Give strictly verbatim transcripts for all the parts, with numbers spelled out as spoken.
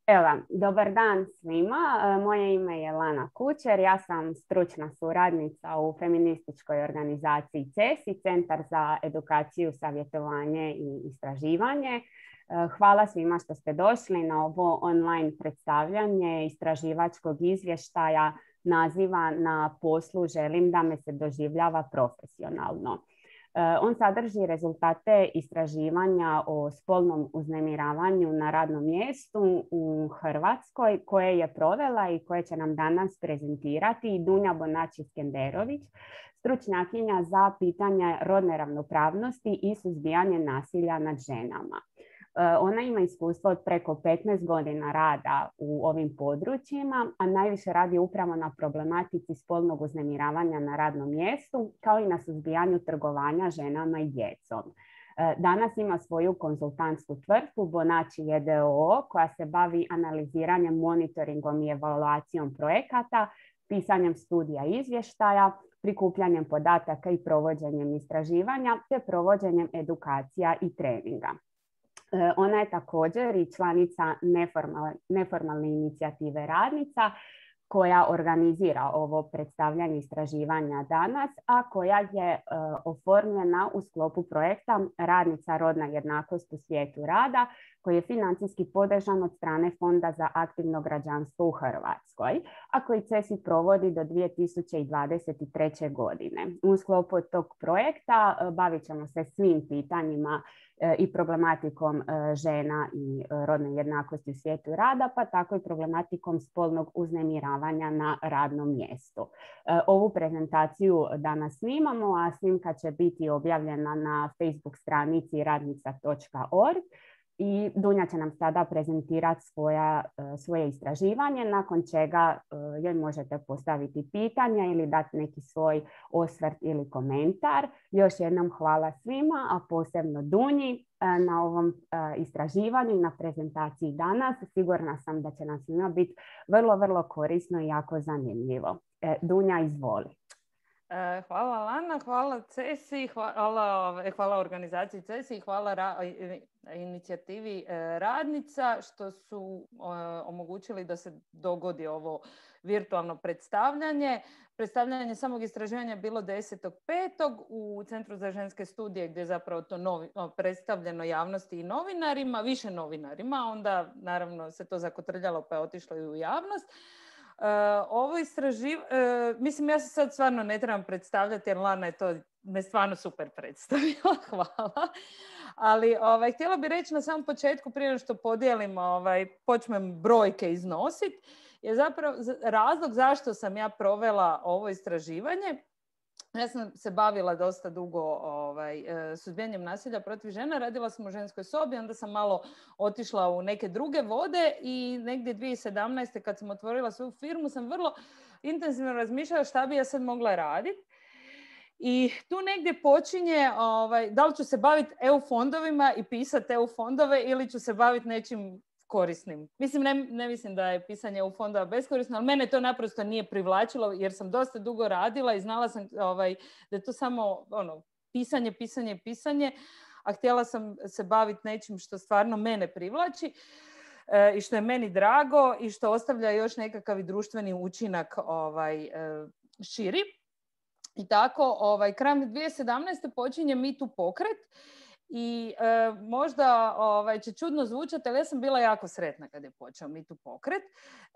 Evo, dobar dan svima. E, Moje ime je Lana Kučer. Ja sam stručna suradnica u feminističkoj organizaciji C E S I, Centar za edukaciju, savjetovanje i istraživanje. E, Hvala svima što ste došli na ovo online predstavljanje istraživačkog izvještaja naziva Na poslu želim da me se doživljava profesionalno. On sadrži rezultate istraživanja o spolnom uznemiravanju na radnom mjestu u Hrvatskoj koje je provela i koje će nam danas prezentirati Dunja Bonači-Skenderović, stručnjakinja za pitanje rodne ravnopravnosti i suzbijanje nasilja nad ženama. Ona ima iskustvo od preko petnaest godina rada u ovim područjima, a najviše radi upravo na problematici spolnog uznemiravanja na radnom mjestu, kao i na suzbijanju trgovanja ženama i djecom. Danas ima svoju konzultantsku tvrtku Bonači j d o o koja se bavi analiziranjem, monitoringom i evaluacijom projekata, pisanjem studija i izvještaja, prikupljanjem podataka i provođenjem istraživanja, te provođenjem edukacija i treninga. Ona je također i članica neformalne, neformalne inicijative Radnica koja organizira ovo predstavljanje istraživanja danas, a koja je uh, oformljena u sklopu projekta Radnica rodna jednakost u svijetu rada, koji je financijski podržan od strane Fonda za aktivno građanstvo u Hrvatskoj, a koji C E S I provodi do dvije tisuće dvadeset treće. godine. U sklopu tog projekta uh, bavit ćemo se svim pitanjima uh, i problematikom uh, žena i uh, rodne jednakosti u svijetu rada, pa tako i problematikom spolnog uznemiravanja na radnom mjestu. Ovu prezentaciju danas snimamo, a snimka će biti objavljena na Facebook stranici radnica točka org i Dunja će nam sada prezentirati svoja, svoje istraživanje, nakon čega joj možete postaviti pitanja ili dati neki svoj osvrt ili komentar. Još jednom hvala svima, a posebno Dunji na ovom istraživanju i na prezentaciji danas. Sigurna sam da će nam svima biti vrlo, vrlo korisno i jako zanimljivo. Dunja, izvoli. Hvala Lana, hvala C E S I, hvala, hvala organizaciji C E S I, hvala ra, inicijativi Radnica što su omogućili da se dogodi ovo virtualno predstavljanje. Predstavljanje samog istraživanja je bilo desetog petog u Centru za ženske studije gdje je zapravo to novi, predstavljeno javnosti i novinarima, više novinarima, onda naravno se to zakotrljalo pa je otišlo i u javnost. Uh, ovo istraživ... Uh, mislim, ja se sad stvarno ne trebam predstavljati jer Lana je to me stvarno super predstavila, hvala. Ali ovaj, htjela bih reći na samom početku, prije što podijelim, ovaj, počnem brojke iznositi, je zapravo razlog zašto sam ja provela ovo istraživanje. Ja sam se bavila dosta dugo ovaj, suzbijanjem nasilja protiv žena, radila sam u ženskoj sobi, onda sam malo otišla u neke druge vode i negdje dvije tisuće sedamnaeste. kad sam otvorila svoju firmu sam vrlo intenzivno razmišljala šta bi ja sad mogla raditi. I tu negdje počinje ovaj, da li ću se baviti E U fondovima i pisati E U fondove ili ću se baviti nečim korisnim. Mislim, ne, ne mislim da je pisanje E U fondova beskorisno, ali mene to naprosto nije privlačilo jer sam dosta dugo radila i znala sam ovaj, da je to samo ono, pisanje, pisanje, pisanje, a htjela sam se baviti nečim što stvarno mene privlači e, i što je meni drago i što ostavlja još nekakav i društveni učinak ovaj, e, širi. I tako, ovaj, krajem dvije tisuće sedamnaeste. počinje Me Too pokret. I e, možda ovaj, će čudno zvučati, ali ja sam bila jako sretna kad je počeo Me Too pokret,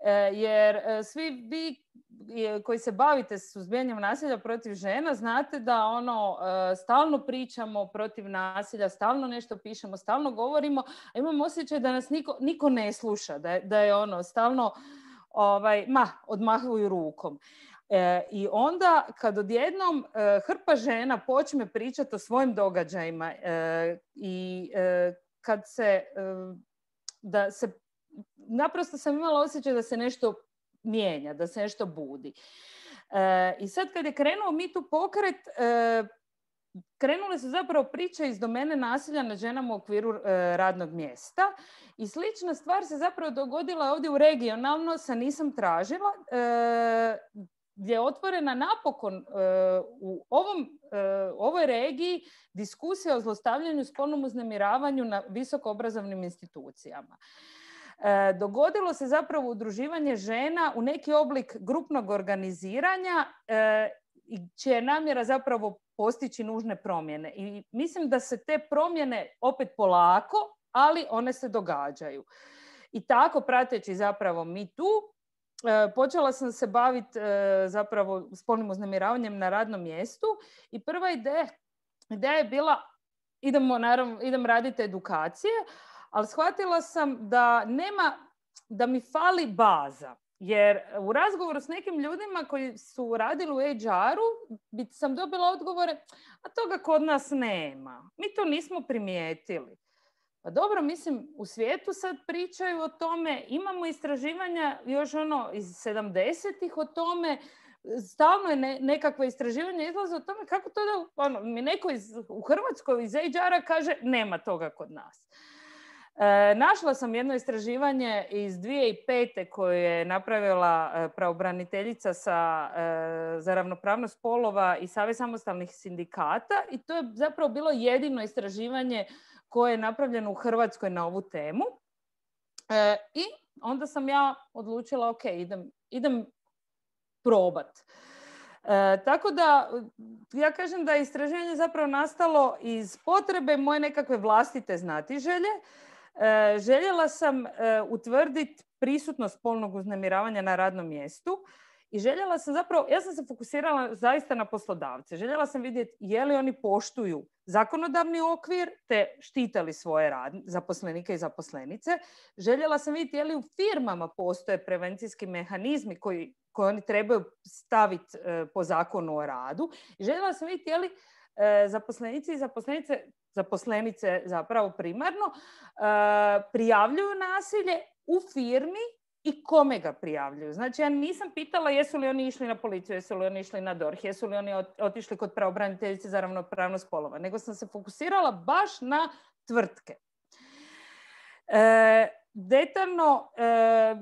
e, jer e, svi vi koji se bavite suzbijanjem nasilja protiv žena znate da ono e, stalno pričamo protiv nasilja, stalno nešto pišemo, stalno govorimo, a imam osjećaj da nas niko, niko ne sluša, da je, da je ono stalno ovaj, ma, odmahuju rukom. E, I onda kad odjednom e, hrpa žena počne pričati o svojim događajima e, i e, kad se, e, da se, naprosto sam imala osjećaj da se nešto mijenja, da se nešto budi. E, I sad kad je krenuo Me Too pokret, e, krenule su zapravo priče iz domene nasilja nad ženama u okviru e, radnog mjesta i slična stvar se zapravo dogodila ovdje u regionalno, sa Nisam tražila, e, gdje je otvorena napokon uh, u ovom, uh, ovoj regiji diskusija o zlostavljanju i spolnom uznemiravanju na visokoobrazovnim institucijama. E, dogodilo se zapravo udruživanje žena u neki oblik grupnog organiziranja e, čija je namjera zapravo postići nužne promjene. I mislim da se te promjene opet polako, ali one se događaju. I tako, prateći zapravo Me Too, e, počela sam se baviti e, zapravo spolnim uznemiravanjem na radnom mjestu i prva ideja, ideja je bila idemo, naravno, idem raditi edukacije, ali shvatila sam da nema, da mi fali baza. Jer u razgovoru s nekim ljudima koji su radili u H R-u sam dobila odgovore, a toga kod nas nema. Mi to nismo primijetili. Pa dobro, mislim, u svijetu sad pričaju o tome, imamo istraživanja još ono iz sedamdesetih o tome, stalno je ne, nekakva istraživanja izlaze o tome kako to da ono, mi neko iz, u Hrvatskoj iz H R-a kaže nema toga kod nas. E, našla sam jedno istraživanje iz dvije tisuće pete koje je napravila e, pravobraniteljica sa, e, za ravnopravnost spolova i Savez samostalnih sindikata i to je zapravo bilo jedino istraživanje koje je napravljeno u Hrvatskoj na ovu temu. E, I onda sam ja odlučila, ok, idem, idem probat. E, tako da, ja kažem da je istraživanje zapravo nastalo iz potrebe moje nekakve vlastite znatiželje. E, željela sam e, utvrditi prisutnost spolnog uznemiravanja na radnom mjestu i željela sam zapravo, ja sam se fokusirala zaista na poslodavce. Željela sam vidjeti je li oni poštuju zakonodavni okvir te štite li svoje rad, zaposlenike i zaposlenice. Željela sam vidjeti je li u firmama postoje prevencijski mehanizmi koji, koji oni trebaju staviti e, po zakonu o radu. I željela sam vidjeti je li e, zaposlenici i zaposlenice, zaposlenice zapravo primarno, e, prijavljuju nasilje u firmi i kome ga prijavljuju. Znači, ja nisam pitala jesu li oni išli na policiju, jesu li oni išli na D O R H, jesu li oni otišli kod pravobraniteljice za ravnopravnost spolova, nego sam se fokusirala baš na tvrtke. E, detaljno, e,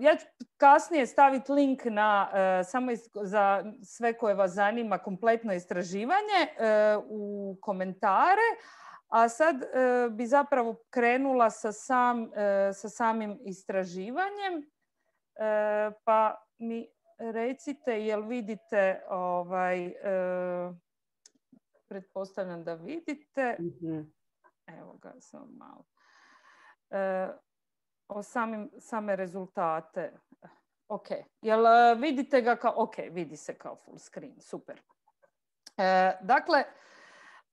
ja ću kasnije staviti link na, e, samo iz, za sve koje vas zanima, kompletno istraživanje e, u komentare, a sad e, bi zapravo krenula sa, sam, e, sa samim istraživanjem. E, pa mi recite jel vidite ovaj, e, pretpostavljam da vidite. Mm-hmm. Evo ga samo malo. E, o samim, same rezultate. Ok. Jel vidite ga kao, ok, vidi se kao full screen. Super. E, dakle,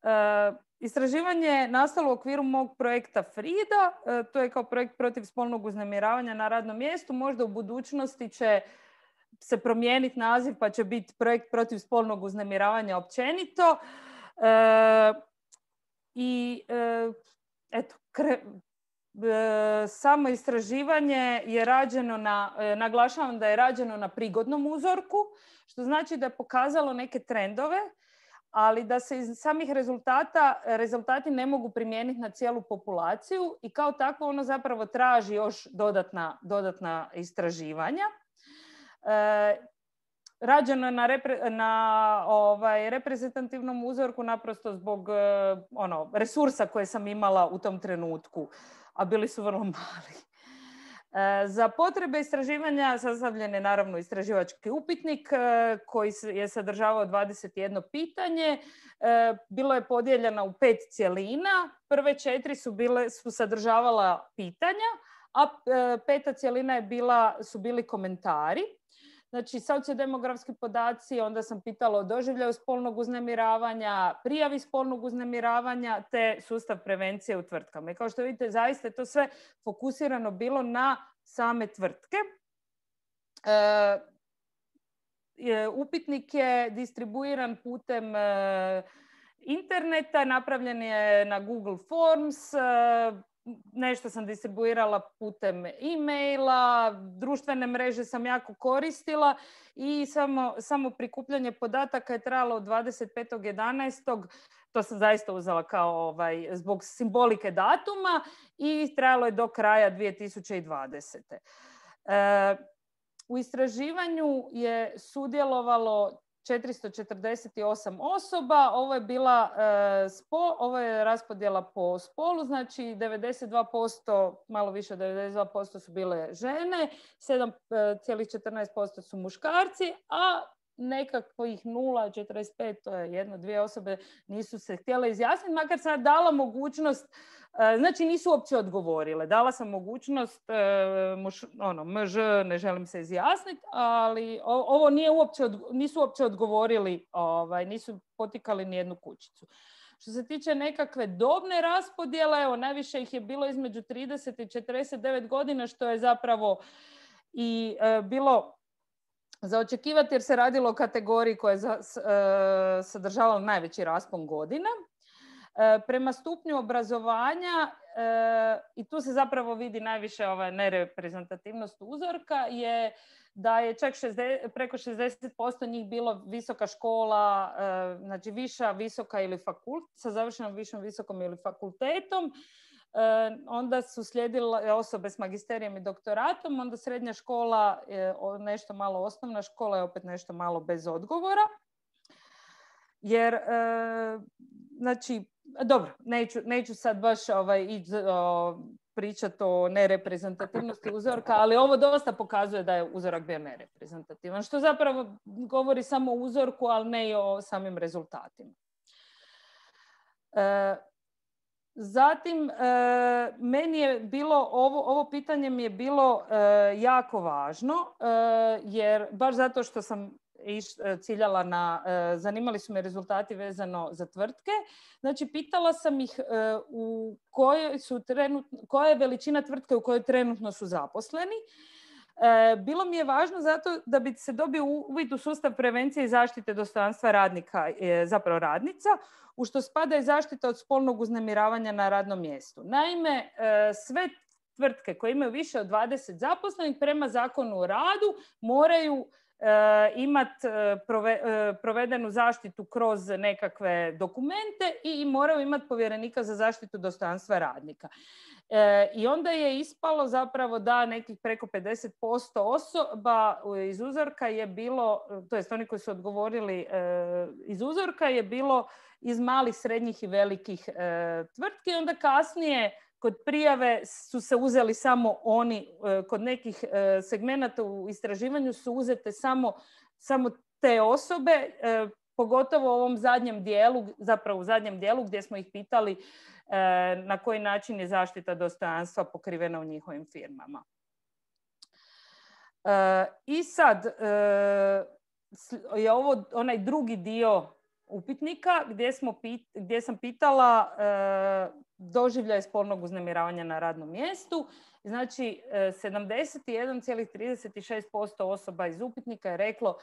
e, istraživanje je nastalo u okviru mog projekta Frida. E, to je kao projekt protiv spolnog uznemiravanja na radnom mjestu. Možda u budućnosti će se promijeniti naziv pa će biti projekt protiv spolnog uznemiravanja općenito. E, I e, eto, kre, e, samo istraživanje je rađeno na, e, naglašavam da je rađeno na prigodnom uzorku, što znači da je pokazalo neke trendove, ali da se iz samih rezultata, rezultati ne mogu primijeniti na cijelu populaciju i kao takvo ono zapravo traži još dodatna, dodatna istraživanja. E, rađeno je na, repre, na ovaj, reprezentativnom uzorku naprosto zbog ono, resursa koje sam imala u tom trenutku, a bili su vrlo mali. Za potrebe istraživanja sastavljen je naravno istraživački upitnik koji je sadržavao dvadeset jedno pitanje. Bilo je podijeljeno u pet cjelina. Prve četiri su, bile, su sadržavala pitanja, a peta cjelina je bila, su bili komentari. Znači, sociodemografski podaci, onda sam pitala o doživljaju spolnog uznemiravanja, prijavi spolnog uznemiravanja, te sustav prevencije u tvrtkama. I kao što vidite, zaista je to sve fokusirano bilo na same tvrtke. E, upitnik je distribuiran putem e, interneta, napravljen je na Google Forms, e, nešto sam distribuirala putem e-maila, društvene mreže sam jako koristila i samo, samo prikupljanje podataka je trajalo od dvadeset petog jedanaestog To sam zaista uzela kao ovaj, zbog simbolike datuma i trajalo je do kraja dvije tisuće dvadesete. E, u istraživanju je sudjelovalo četiristo četrdeset osam osoba. Ovo je bila e, spo, ovo je raspodjela po spolu, znači devedeset dva posto, malo više od devedeset dva posto su bile žene, sedam zarez četrnaest posto su muškarci, a nekakvih nula zarez četrdeset pet, to je jedno, dvije osobe nisu se htjele izjasniti, makar sam dala mogućnost, znači nisu uopće odgovorile. Dala sam mogućnost, muš, ono, mž, ne želim se izjasniti, ali ovo nije uopće, nisu uopće odgovorili, ovaj, nisu potikali ni jednu kućicu. Što se tiče nekakve dobne raspodjele, evo, najviše ih je bilo između trideset i četrdeset devet godina, što je zapravo i e, bilo za očekivati jer se radilo o kategoriji koja je za, e, sadržavala najveći raspon godina. E, prema stupnju obrazovanja, e, i tu se zapravo vidi najviše ova nereprezentativnost uzorka, je da je čak šezdeset, preko šezdeset posto njih bilo visoka škola, e, znači viša, visoka ili fakult, sa završenom višom, visokom ili fakultetom. E, onda su slijedile osobe s magisterijem i doktoratom, onda srednja škola, e, nešto malo osnovna škola je opet nešto malo bez odgovora. Jer, e, znači, dobro, neću, neću sad baš ovaj, ići o, pričati o nereprezentativnosti uzorka, ali ovo dosta pokazuje da je uzorak bio nereprezentativan, što zapravo govori samo o uzorku, ali ne i o samim rezultatima. E, Zatim, e, meni je bilo, ovo, ovo pitanje mi je bilo e, jako važno, e, jer baš zato što sam iš, ciljala na, e, zanimali su me rezultati vezano za tvrtke. Znači, pitala sam ih e, u kojoj su trenutno, koja je veličina tvrtke u kojoj trenutno su zaposleni. E, bilo mi je važno zato da bi se dobio uvid u sustav prevencije i zaštite dostojanstva radnika, e, zapravo radnica, u što spada i zaštita od spolnog uznemiravanja na radnom mjestu. Naime, e, sve tvrtke koje imaju više od dvadeset zaposlenih prema Zakonu o radu moraju e, imati e, prove, e, provedenu zaštitu kroz nekakve dokumente i moraju imati povjerenika za zaštitu dostojanstva radnika. E, I onda je ispalo zapravo da nekih preko pedeset posto osoba iz uzorka je bilo, to jest oni koji su odgovorili e, iz uzorka je bilo iz malih, srednjih i velikih e, tvrtki. Onda kasnije kod prijave su se uzeli samo oni, e, kod nekih e, segmenata u istraživanju su uzete samo, samo te osobe, e, pogotovo u ovom zadnjem dijelu, zapravo u zadnjem dijelu gdje smo ih pitali e, na koji način je zaštita dostojanstva pokrivena u njihovim firmama. E, I sad e, je ovo onaj drugi dio upitnika gdje, smo pit, gdje sam pitala e, doživljaj spolnog uznemiravanja na radnom mjestu. Znači, e, sedamdeset jedan zarez trideset šest posto osoba iz upitnika je reklo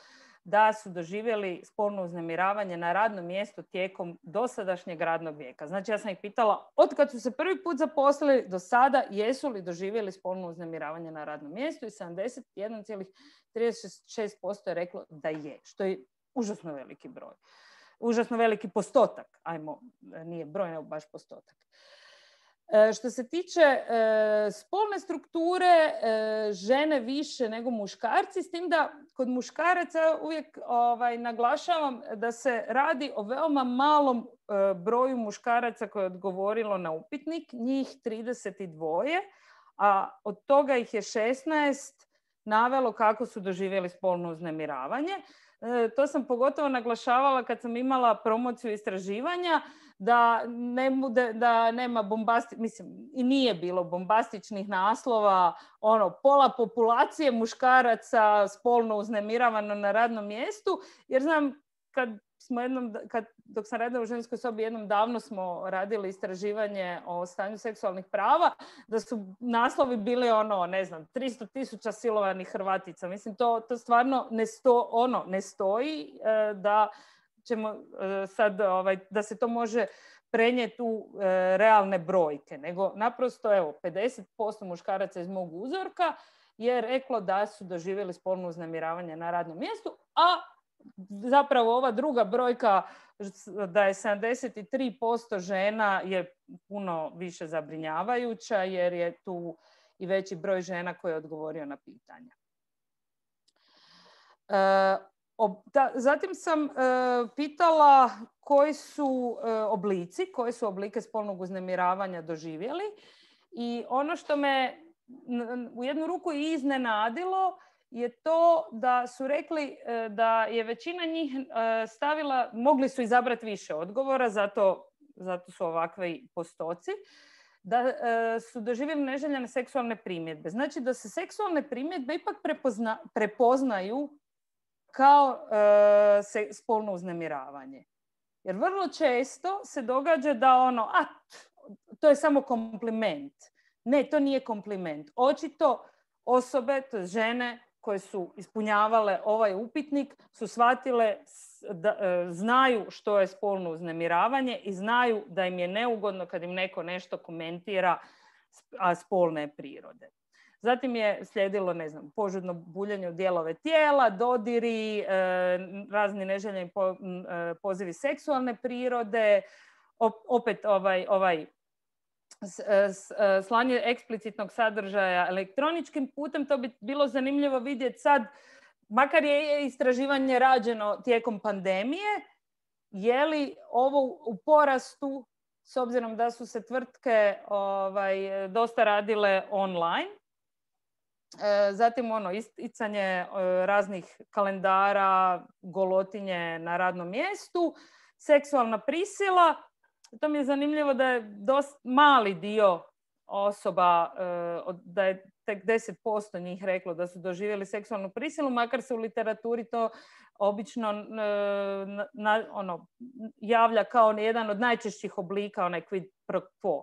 da su doživjeli spolno uznemiravanje na radnom mjestu tijekom dosadašnjeg radnog vijeka. Znači, ja sam ih pitala od kad su se prvi put zaposlili do sada, jesu li doživjeli spolno uznemiravanje na radnom mjestu, i sedamdeset jedan zarez trideset šest posto je reklo da je, što je užasno veliki broj. Užasno veliki postotak, ajmo, nije broj, nego baš postotak. E, što se tiče e, spolne strukture, e, žene više nego muškarci, s tim da kod muškaraca uvijek ovaj, naglašavam da se radi o veoma malom e, broju muškaraca koje je odgovorilo na upitnik, njih trideset dva, a od toga ih je šesnaest navelo kako su doživjeli spolno uznemiravanje. E, to sam pogotovo naglašavala kad sam imala promociju istraživanja, da, ne bude, da nema bombasti, mislim, i nije bilo bombastičnih naslova, ono, pola populacije muškaraca spolno uznemiravano na radnom mjestu, jer znam kad smo jednom, kad, dok sam radila u ženskoj sobi, jednom davno smo radili istraživanje o stanju seksualnih prava, da su naslovi bili ono, ne znam, tristo tisuća silovanih Hrvatica. Mislim, to, to stvarno ne, sto, ono, ne stoji e, da ćemo e, sad, ovaj, da se to može prenijeti u e, realne brojke, nego naprosto, evo, pedeset posto muškaraca iz mog uzorka je reklo da su doživjeli spolno uznemiravanje na radnom mjestu, a zapravo ova druga brojka da je sedamdeset tri posto žena je puno više zabrinjavajuća, jer je tu i veći broj žena koji je odgovorio na pitanja. E, Zatim sam uh, pitala koji su uh, oblici, koje su oblike spolnog uznemiravanja doživjeli. I ono što me u jednu ruku i iznenadilo je to da su rekli uh, da je većina njih uh, stavila, mogli su izabrati više odgovora, zato, zato su ovakvi postoci, da uh, su doživjeli neželjene seksualne primjedbe. Znači da se seksualne primjedbe ipak prepozna, prepoznaju kao e, se, spolno uznemiravanje. Jer vrlo često se događa da ono, a to je samo kompliment. Ne, to nije kompliment. Očito osobe, to žene koje su ispunjavale ovaj upitnik, su shvatile da e, znaju što je spolno uznemiravanje i znaju da im je neugodno kad im neko nešto komentira, a spolne prirode. Zatim je slijedilo, ne znam, požudno buljenje u dijelove tijela, dodiri, e, razni neželjeni po, e, pozivi seksualne prirode, opet ovaj, ovaj s, s, slanje eksplicitnog sadržaja elektroničkim putem. To bi bilo zanimljivo vidjeti sad, makar je istraživanje rađeno tijekom pandemije, je li ovo u porastu s obzirom da su se tvrtke ovaj, dosta radile online. Zatim ono, isticanje raznih kalendara, golotinje na radnom mjestu, seksualna prisila. To mi je zanimljivo da je dosta mali dio osoba, da je tek deset posto njih reklo da su doživjeli seksualnu prisilu, makar se u literaturi to obično na, na, ono, javlja kao jedan od najčešćih oblika, onaj quid pro quo.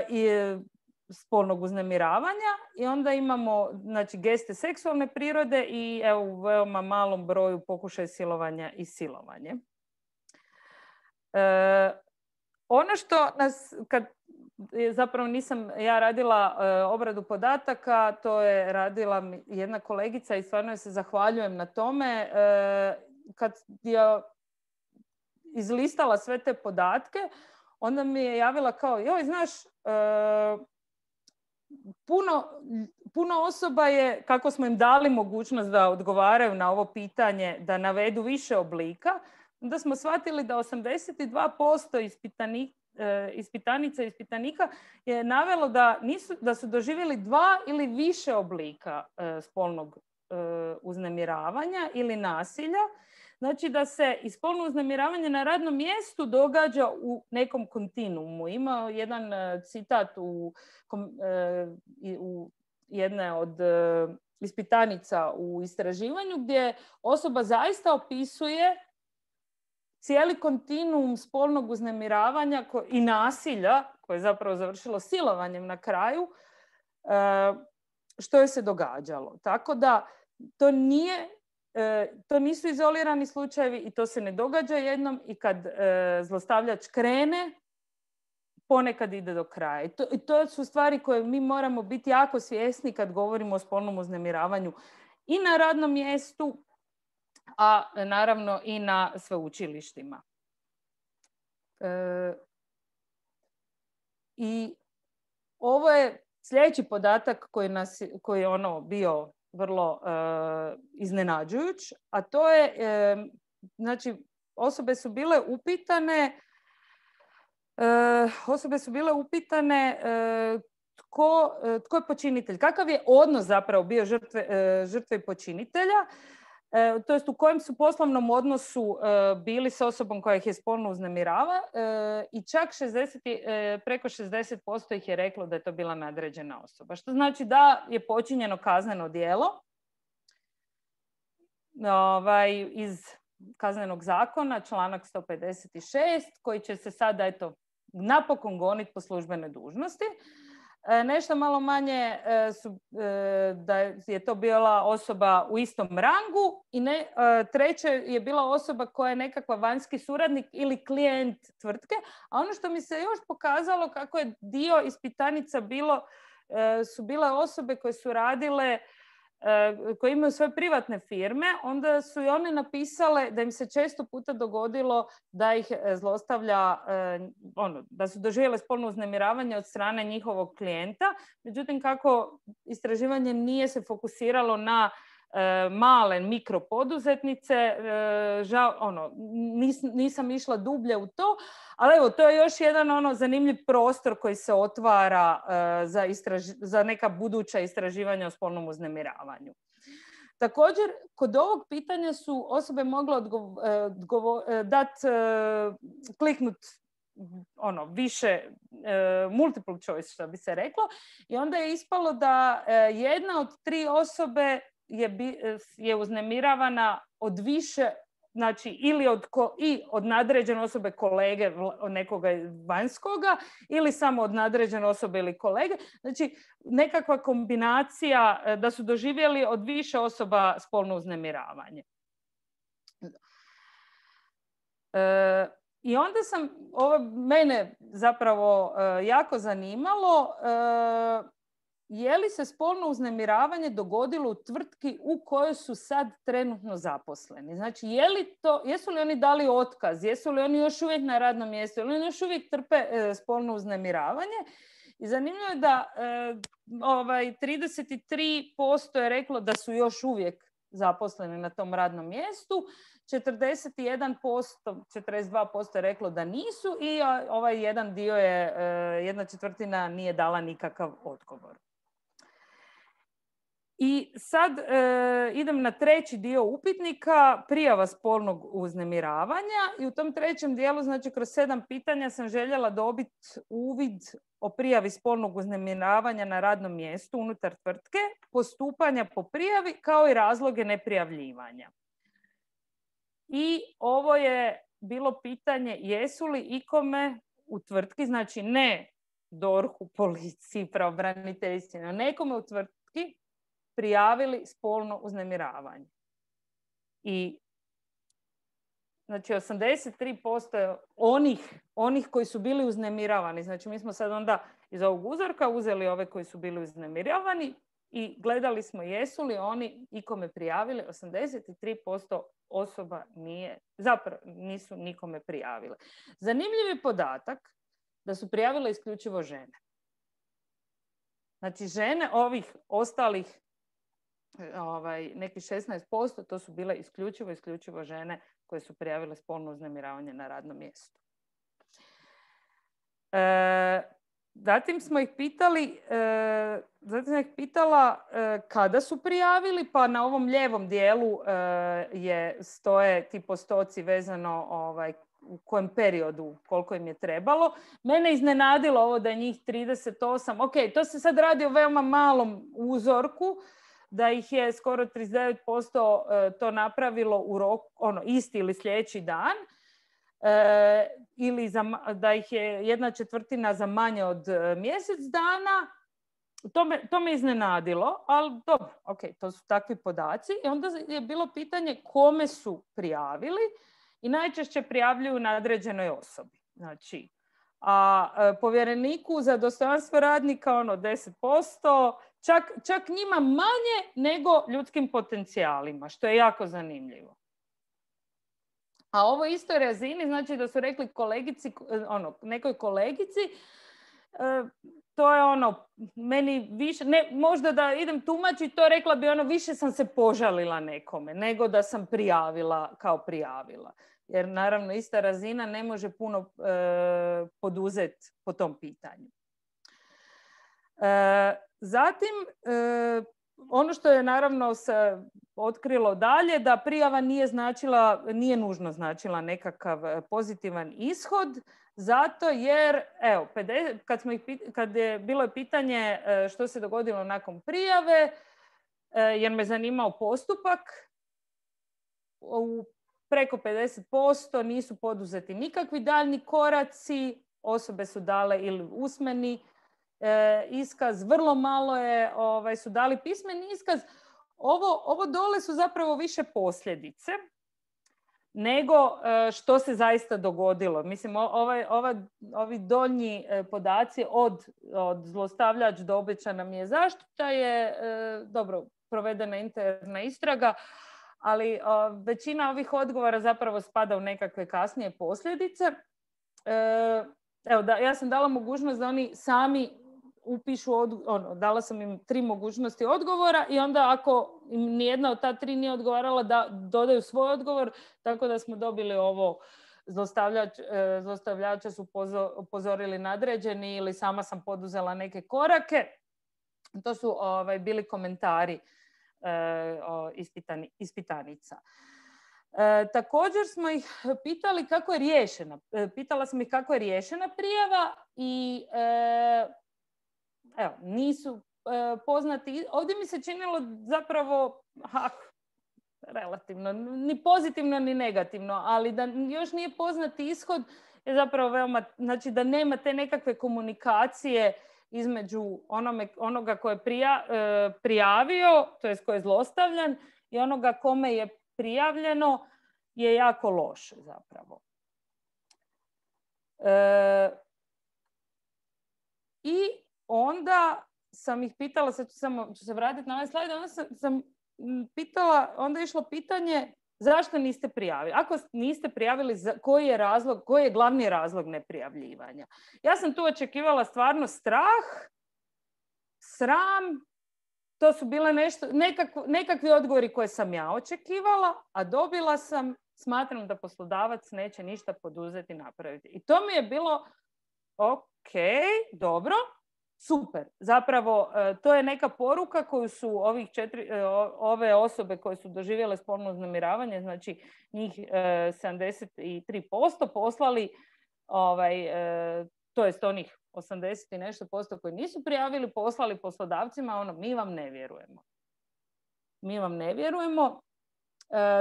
I spolnog uznemiravanja i onda imamo, znači, geste seksualne prirode i evo, u veoma malom broju pokušaj silovanja i silovanje. E, ono što nas, kad zapravo nisam ja radila e, obradu podataka, to je radila jedna kolegica i stvarno se zahvaljujem na tome. E, kad je izlistala sve te podatke, onda mi je javila kao, joj, znaš, e, Puno, puno osoba je, kako smo im dali mogućnost da odgovaraju na ovo pitanje, da navedu više oblika, onda smo shvatili da osamdeset dva posto ispitanika, ispitanica i ispitanika je navelo da, nisu, da su doživjeli dva ili više oblika spolnog uznemiravanja ili nasilja. Znači da se i spolno uznemiravanje na radnom mjestu događa u nekom kontinuumu. Ima jedan citat u, u jedne od ispitanica u istraživanju gdje osoba zaista opisuje cijeli kontinuum spolnog uznemiravanja i nasilja, koje je zapravo završilo silovanjem na kraju, što je se događalo. Tako da to nije To nisu izolirani slučajevi i to se ne događa jednom i kad e, zlostavljač krene, ponekad ide do kraja. I to, i to su stvari koje mi moramo biti jako svjesni kad govorimo o spolnom uznemiravanju i na radnom mjestu, a naravno i na sveučilištima. E, I ovo je sljedeći podatak koji, nas, koji je ono bio vrlo uh, iznenađujuć, a to je, uh, znači, osobe su bile upitane, uh, osobe su bile upitane uh, tko, uh, tko je počinitelj, kakav je odnos zapravo bio žrtve, uh, žrtve i počinitelja, uh, to jest u kojem su poslovnom odnosu uh, bili s osobom koja ih je spolno uznemirava uh, i čak šezdeset, uh, preko šezdeset posto ih je reklo da je to bila nadređena osoba. Što znači da je počinjeno kazneno djelo ovaj, iz kaznenog zakona, članak sto pedeset šest, koji će se sada eto, napokon goniti po službenoj dužnosti. E, nešto malo manje e, su, e, da je to bila osoba u istom rangu i ne, e, treće je bila osoba koja je nekakva vanjski suradnik ili klijent tvrtke. A ono što mi se još pokazalo kako je dio ispitanica bilo, e, su bile osobe koje su radile, koje imaju svoje privatne firme, onda su i one napisale da im se često puta dogodilo da ih zlostavlja, ono, da su doživjele spolno uznemiravanje od strane njihovog klijenta. Međutim, kako istraživanje nije se fokusiralo na male mikropoduzetnice, žao, ono, nis, nisam išla dublje u to, ali evo, to je još jedan ono zanimljiv prostor koji se otvara za, istraži, za neka buduća istraživanja o spolnom uznemiravanju. Također, kod ovog pitanja su osobe mogle odgovo, odgovo, dat, kliknut ono, više multiple choice, što bi se reklo, i onda je ispalo da jedna od tri osobe je, je uznemiravana od više, znači ili od, ko, i od nadređene osobe kolege nekoga vanjskoga ili samo od nadređene osobe ili kolege. Znači nekakva kombinacija da su doživjeli od više osoba spolno uznemiravanje. E, I onda sam, ovo mene zapravo e, jako zanimalo, e, je li se spolno uznemiravanje dogodilo u tvrtki u kojoj su sad trenutno zaposleni? Znači, je li to, jesu li oni dali otkaz? Jesu li oni još uvijek na radnom mjestu? Ili oni još uvijek trpe e, spolno uznemiravanje? I zanimljivo je da e, ovaj, trideset tri posto je reklo da su još uvijek zaposleni na tom radnom mjestu, četrdeset jedan posto, četrdeset dva posto je reklo da nisu i ovaj jedan dio je, e, jedna četvrtina nije dala nikakav odgovor. I sad e, idem na treći dio upitnika, prijava spolnog uznemiravanja, i u tom trećem dijelu, znači kroz sedam pitanja, sam željela dobiti uvid o prijavi spolnog uznemiravanja na radnom mjestu unutar tvrtke, postupanja po prijavi kao i razloge neprijavljivanja. I ovo je bilo pitanje jesu li ikome u tvrtki, znači ne dorhu, policiji, pravobraniteljstvu, no nekome u tvrtki prijavili spolno uznemiravanje. I znači osamdeset tri posto je onih, onih koji su bili uznemiravani. Znači mi smo sad onda iz ovog uzorka uzeli ove koji su bili uznemiravani i gledali smo jesu li oni ikome prijavili. osamdeset tri posto osoba nije, zapravo nisu nikome prijavile. Zanimljiv je podatak da su prijavile isključivo žene. Znači žene ovih ostalih ovaj, neki šesnaest posto, to su bile isključivo, isključivo žene koje su prijavile spolno uznemiravanje na radnom mjestu. E, zatim smo ih pitali, e, zatim sam ih pitala e, kada su prijavili, pa na ovom lijevom dijelu e, je, stoje ti postoci vezano ovaj, u kojem periodu, koliko im je trebalo. Mene iznenadilo ovo da je njih trideset osam. Ok, to se sad radi o veoma malom uzorku, da ih je skoro trideset devet posto to napravilo u roku, ono, isti ili sljedeći dan, e, ili za, da ih je jedna četvrtina za manje od mjesec dana. To me, to me iznenadilo, ali dobro, ok, to su takvi podaci. I onda je bilo pitanje kome su prijavili i najčešće prijavljuju nadređenoj osobi. Znači, a povjereniku za dostojanstvo radnika ono deset posto, čak, čak njima manje nego ljudskim potencijalima, što je jako zanimljivo. A ovo istoj razini, znači da su rekli kolegici, ono, nekoj kolegici, to je ono, meni više, ne, možda da idem tumačiti, to rekla bi ono, više sam se požalila nekome, nego da sam prijavila kao prijavila. Jer naravno ista razina ne može puno e, poduzeti po tom pitanju. E, zatim, e, ono što je naravno se otkrilo dalje, da prijava nije značila, nije nužno značila nekakav pozitivan ishod, zato jer, evo, kad, smo ih, kad je bilo pitanje što se dogodilo nakon prijave, jer me zanimao postupak, u preko pedeset posto nisu poduzeti nikakvi daljni koraci, osobe su dale ili usmeni e, iskaz, vrlo malo je, ovaj, su dali pismeni iskaz. Ovo, ovo dole su zapravo više posljedice nego e, što se zaista dogodilo. Mislim, ovaj, ovaj, ovi donji e, podaci od, od zlostavljač do obećana mi je zaštita je e, dobro provedena interna istraga, ali o, većina ovih odgovora zapravo spada u nekakve kasnije posljedice. E, evo, da, ja sam dala mogućnost da oni sami upišu, od, ono, dala sam im tri mogućnosti odgovora i onda ako im nijedna od ta tri nije odgovarala, da dodaju svoj odgovor, tako da smo dobili ovo zlostavljač, zlostavljača su upozorili nadređeni ili sama sam poduzela neke korake. To su ovaj, bili komentari e, ispitani, ispitanica. E, također smo ih pitali kako je riješena. E, pitala sam ih kako je riješena prijava i e, evo, nisu e, poznati. Ovdje mi se činilo zapravo ha, relativno, ni pozitivno ni negativno, ali da još nije poznati ishod je zapravo veoma, znači da nema te nekakve komunikacije između onome, onoga ko je prija, e, prijavio, to jest ko je zlostavljan, i onoga kome je prijavljeno, je jako loše zapravo. E, I onda sam ih pitala, sad ću, samo, ću se vratiti na ovaj slajd, onda sam, sam pitala, onda je išlo pitanje zašto niste prijavili. Ako niste prijavili, koji je razlog, koji je glavni razlog neprijavljivanja? Ja sam tu očekivala stvarno strah, sram, to su bile nešto, nekakvi, nekakvi odgovori koje sam ja očekivala, a dobila sam, smatram da poslodavac neće ništa poduzeti, napraviti. I to mi je bilo, ok, dobro, super. Zapravo, to je neka poruka koju su ovih četiri, ove osobe koje su doživjele spolno uznemiravanje, znači njih sedamdeset tri posto poslali, ovaj, to jest onih osamdeset i nešto posto koji nisu prijavili, poslali poslodavcima, ono, mi vam ne vjerujemo. Mi vam ne vjerujemo.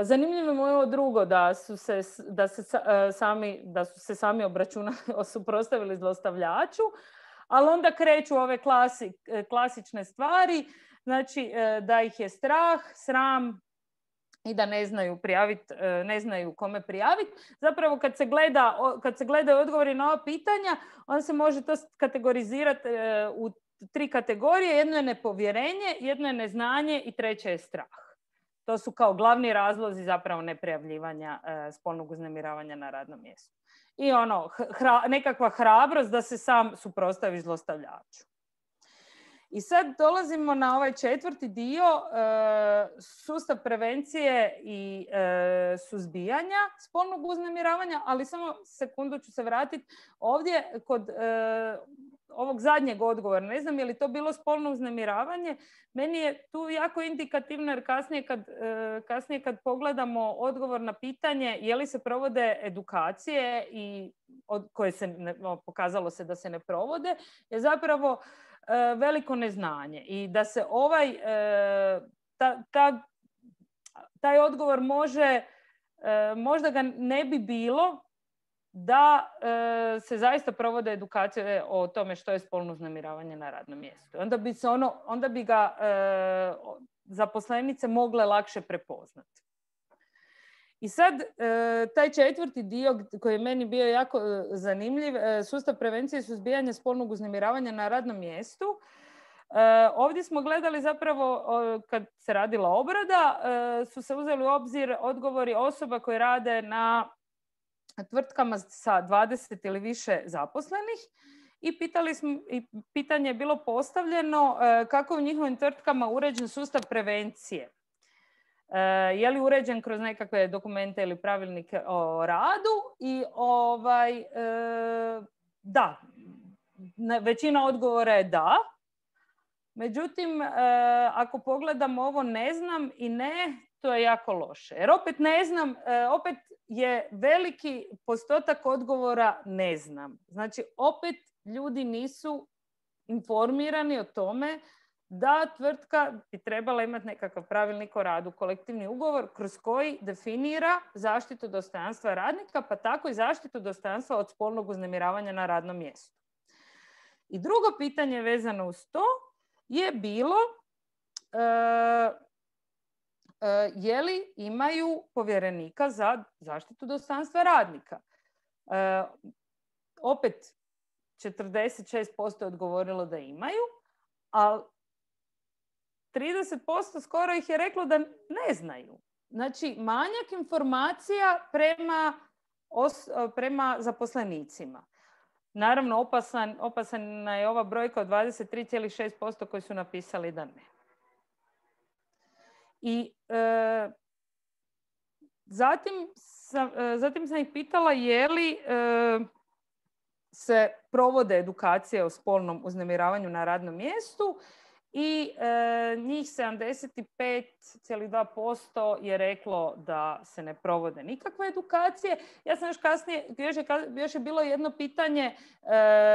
Zanimljivo je ovo drugo, da su se, da se, sami, da su se sami obračunali, suprotstavili zlostavljaču, ali onda kreću ove klasi, klasične stvari, znači da ih je strah, sram i da ne znaju prijaviti, ne znaju kome prijaviti. Zapravo kad se gleda, kad se gledaju odgovori na ova pitanja, onda se može to kategorizirati u tri kategorije. Jedno je nepovjerenje, jedno je neznanje i treće je strah. To su kao glavni razlozi zapravo neprijavljivanja spolnog uznemiravanja na radnom mjestu. I ono, hra, nekakva hrabrost da se sam suprotstavi zlostavljaču. I sad dolazimo na ovaj četvrti dio, e, sustav prevencije i e, suzbijanja spolnog uznemiravanja, ali samo sekundu ću se vratiti ovdje kod e, ovog zadnjeg odgovora. Ne znam je li to bilo spolno uznemiravanje. Meni je tu jako indikativno jer kasnije kad, e, kasnije kad pogledamo odgovor na pitanje je li se provode edukacije i od koje se ne, pokazalo se da se ne provode, je zapravo veliko neznanje i da se ovaj ta, ta, taj odgovor može, možda ga ne bi bilo da se zaista provode edukacije o tome što je spolno uznemiravanje na radnom mjestu. Onda bi se ono, onda bi ga zaposlenice mogle lakše prepoznati. I sad, taj četvrti dio koji je meni bio jako zanimljiv, sustav prevencije i suzbijanja spolnog uznemiravanja na radnom mjestu. Ovdje smo gledali zapravo, kad se radila obrada, su se uzeli u obzir odgovori osoba koje rade na tvrtkama sa dvadeset ili više zaposlenih i pitali smo, i pitanje je bilo postavljeno kako je u njihovim tvrtkama uređen sustav prevencije. Je li uređen kroz nekakve dokumente ili pravilnike o radu i ovaj, da, većina odgovora je da. Međutim, ako pogledamo ovo ne znam i ne, to je jako loše. Jer opet ne znam, opet je veliki postotak odgovora ne znam. Znači, opet ljudi nisu informirani o tome da tvrtka bi trebala imati nekakav pravilnik o radu, kolektivni ugovor kroz koji definira zaštitu dostojanstva radnika, pa tako i zaštitu dostojanstva od spolnog uznemiravanja na radnom mjestu. I drugo pitanje vezano uz to je bilo e, e, je li imaju povjerenika za zaštitu dostojanstva radnika. E, opet četrdeset šest posto je odgovorilo da imaju, ali trideset posto skoro ih je reklo da ne znaju. Znači, manjak informacija prema, os, prema zaposlenicima. naravno opasan, opasana je ova brojka od dvadeset tri zarez šest posto koji su napisali da ne. I e, zatim, sam, e, zatim sam ih pitala je li e, se provode edukacije o spolnom uznemiravanju na radnom mjestu i e, njih sedamdeset pet zarez dva posto je reklo da se ne provode nikakve edukacije. Ja sam još kasnije, još je, još je bilo jedno pitanje e,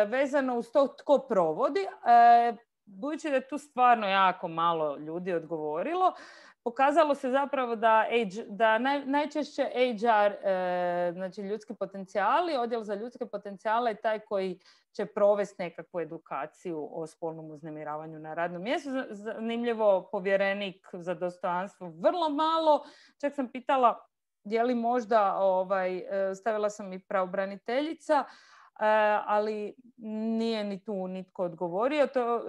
vezano uz to tko provodi. E, budući da je tu stvarno jako malo ljudi odgovorilo, pokazalo se zapravo da, da naj, najčešće H R, e, znači ljudski potencijali, odjel za ljudske potencijale je taj koji će provesti nekakvu edukaciju o spolnom uznemiravanju na radnom mjestu. Zanimljivo, povjerenik za dostojanstvo vrlo malo. Čak sam pitala je li možda, ovaj, stavila sam i pravobraniteljica, ali nije ni tu nitko odgovorio. To,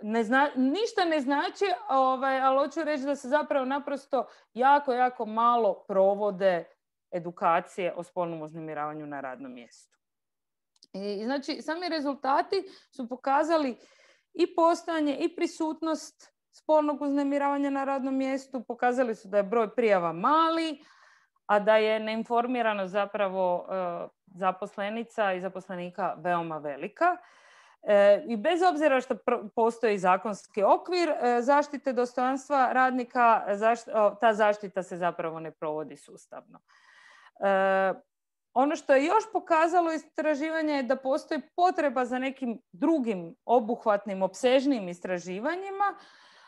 Ne zna, ništa ne znači, ovaj, ali hoću reći da se zapravo naprosto jako, jako malo provode edukacije o spolnom uznemiravanju na radnom mjestu. I, znači, sami rezultati su pokazali i postojanje i prisutnost spolnog uznemiravanja na radnom mjestu, pokazali su da je broj prijava mali, a da je neinformiranost zapravo e, zaposlenica i zaposlenika veoma velika. E, I bez obzira što pr- postoji zakonski okvir e, zaštite dostojanstva radnika, zašt- o, ta zaštita se zapravo ne provodi sustavno. E, ono što je još pokazalo istraživanje je da postoji potreba za nekim drugim obuhvatnim, opsežnim istraživanjima.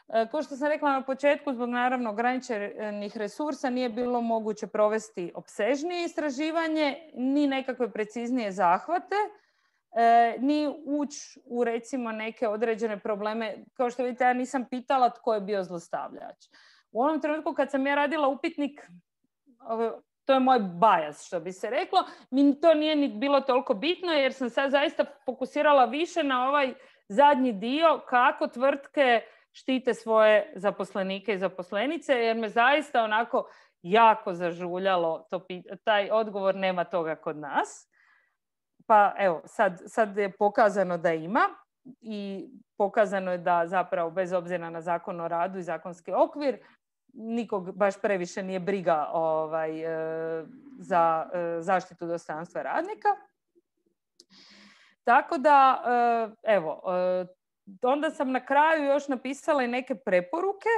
E, kao što sam rekla na početku, zbog naravno ograničenih resursa nije bilo moguće provesti opsežnije istraživanje, ni nekakve preciznije zahvate. E, ni ući u recimo neke određene probleme. Kao što vidite, ja nisam pitala tko je bio zlostavljač. U onom trenutku kad sam ja radila upitnik, to je moj bias, što bi se reklo, mi to nije ni bilo toliko bitno jer sam sad zaista fokusirala više na ovaj zadnji dio kako tvrtke štite svoje zaposlenike i zaposlenice, jer me zaista onako jako zažuljalo to, taj odgovor, nema toga kod nas. Pa evo, sad, sad je pokazano da ima i pokazano je da zapravo bez obzira na Zakon o radu i zakonski okvir nikog baš previše nije briga ovaj, za zaštitu dostojanstva radnika. Tako da, evo, onda sam na kraju još napisala i neke preporuke,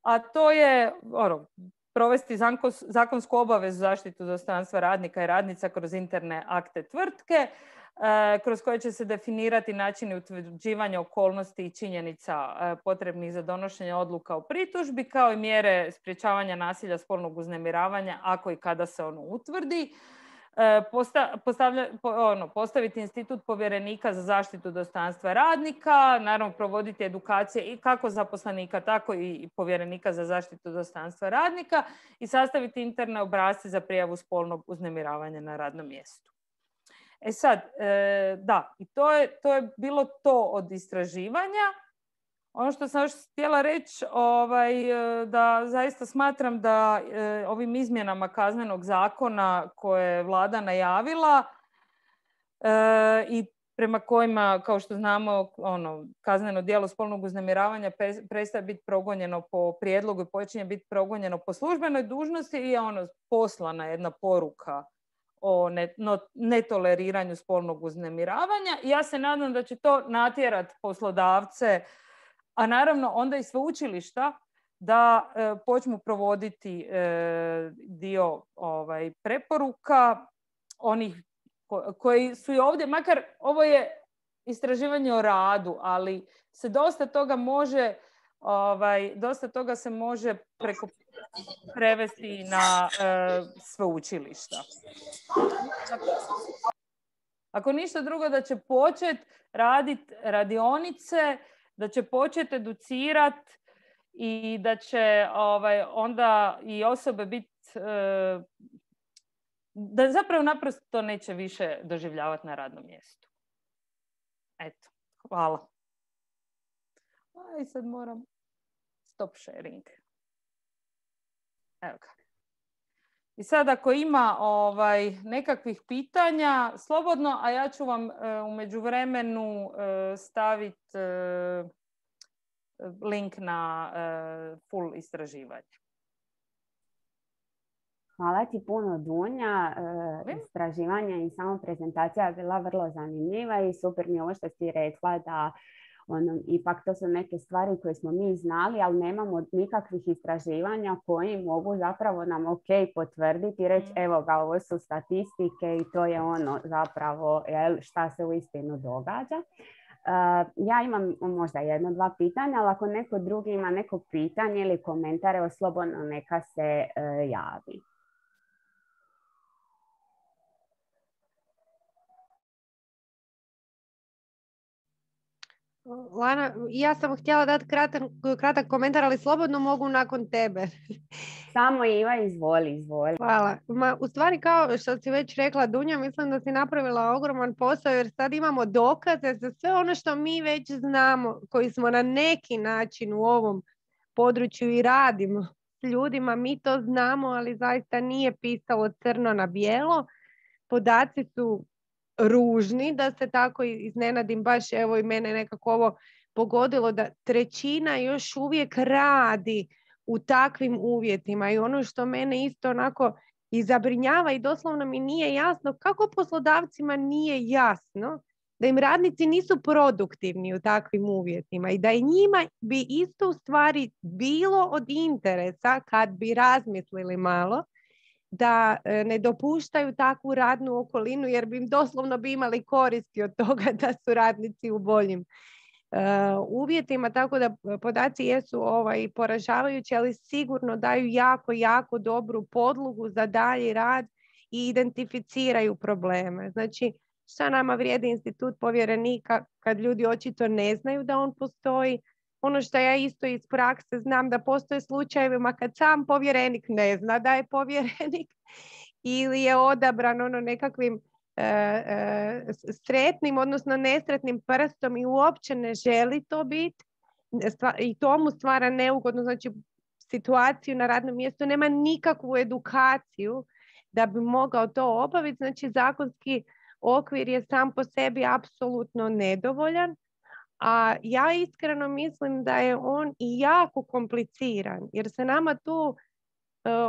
a to je ono, provesti zakonsku obavezu zaštitu dostojanstva radnika i radnica kroz interne akte tvrtke, kroz koje će se definirati načini utvrđivanja okolnosti i činjenica potrebnih za donošenje odluka o pritužbi, kao i mjere sprječavanja nasilja spolnog uznemiravanja ako i kada se ono utvrdi. Posta, postavlja, po, ono, postaviti institut povjerenika za zaštitu dostojanstva radnika, naravno provoditi edukacije i kako zaposlenika, tako i povjerenika za zaštitu dostojanstva radnika i sastaviti interne obrasce za prijavu spolnog uznemiravanja na radnom mjestu. E sad, e, da, i to je, to je bilo to od istraživanja. Ono što sam još htjela reći, ovaj, da zaista smatram da e, ovim izmjenama Kaznenog zakona koje je vlada najavila e, i prema kojima, kao što znamo, ono, kazneno djelo spolnog uznemiravanja prestaje biti progonjeno po prijedlogu i počinje biti progonjeno po službenoj dužnosti i je ono poslana jedna poruka o netoleriranju spolnog uznemiravanja. I ja se nadam da će to natjerati poslodavce, a naravno onda i sveučilišta, da e, počnu provoditi e, dio ovaj, preporuka onih ko, koji su i ovdje, makar ovo je istraživanje o radu, ali se dosta toga može, ovaj, dosta toga se može preko prevesti na e, sveučilišta. Ako ništa drugo, da će početi raditi radionice, da će početi educirati i da će ovaj, onda i osobe biti, e, da zapravo naprosto to neće više doživljavati na radnom mjestu. Eto, hvala. I sad moram stop sharing. Evo ga. I sad ako ima ovaj, nekakvih pitanja, slobodno, a ja ću vam e, u međuvremenu e, staviti e, link na e, full istraživanje. Hvala ti puno, Dunja. E, istraživanje i samo prezentacija je bila vrlo zanimljiva i super mi je ovo što si rekla da ono, ipak to su neke stvari koje smo mi znali, ali nemamo nikakvih istraživanja koji mogu zapravo nam ok potvrditi i reći evo ga, ovo su statistike i to je ono zapravo jel, šta se uistinu događa. Uh, ja imam možda jedno, dva pitanja, ali ako neko drugi ima neko pitanje ili komentare, slobodno neka se uh, javi. Lana, ja sam htjela dati kratak, kratak komentar, ali slobodno mogu nakon tebe. Samo Iva, izvoli, izvoli. Hvala. Ma, u stvari, kao što si već rekla, Dunja, mislim da si napravila ogroman posao, jer sad imamo dokaze za sve ono što mi već znamo, koji smo na neki način u ovom području i radimo s ljudima. Mi to znamo, ali zaista nije pisalo crno na bijelo. Podaci su ružni, da se tako iznenadim, baš evo i mene nekako ovo pogodilo, da trećina još uvijek radi u takvim uvjetima. I ono što mene isto onako i zabrinjava i doslovno mi nije jasno, kako poslodavcima nije jasno da im radnici nisu produktivni u takvim uvjetima i da i njima bi isto u stvari bilo od interesa kad bi razmislili malo da ne dopuštaju takvu radnu okolinu, jer bi im doslovno bi imali koristi od toga da su radnici u boljim uh, uvjetima. Tako da podaci jesu ovaj, poražavajući, ali sigurno daju jako, jako dobru podlogu za dalji rad i identificiraju probleme. Znači, šta nama vrijedi institut povjerenika kad ljudi očito ne znaju da on postoji? Ono što ja isto iz prakse znam, da postoje slučajevima kad sam povjerenik ne zna da je povjerenik ili je odabran ono nekakvim e, e, sretnim, odnosno nesretnim prstom i uopće ne želi to biti i to mu stvara neugodno, znači situaciju na radnom mjestu, nema nikakvu edukaciju da bi mogao to obaviti. Znači zakonski okvir je sam po sebi apsolutno nedovoljan. A ja iskreno mislim da je on i jako kompliciran, jer se nama tu uh,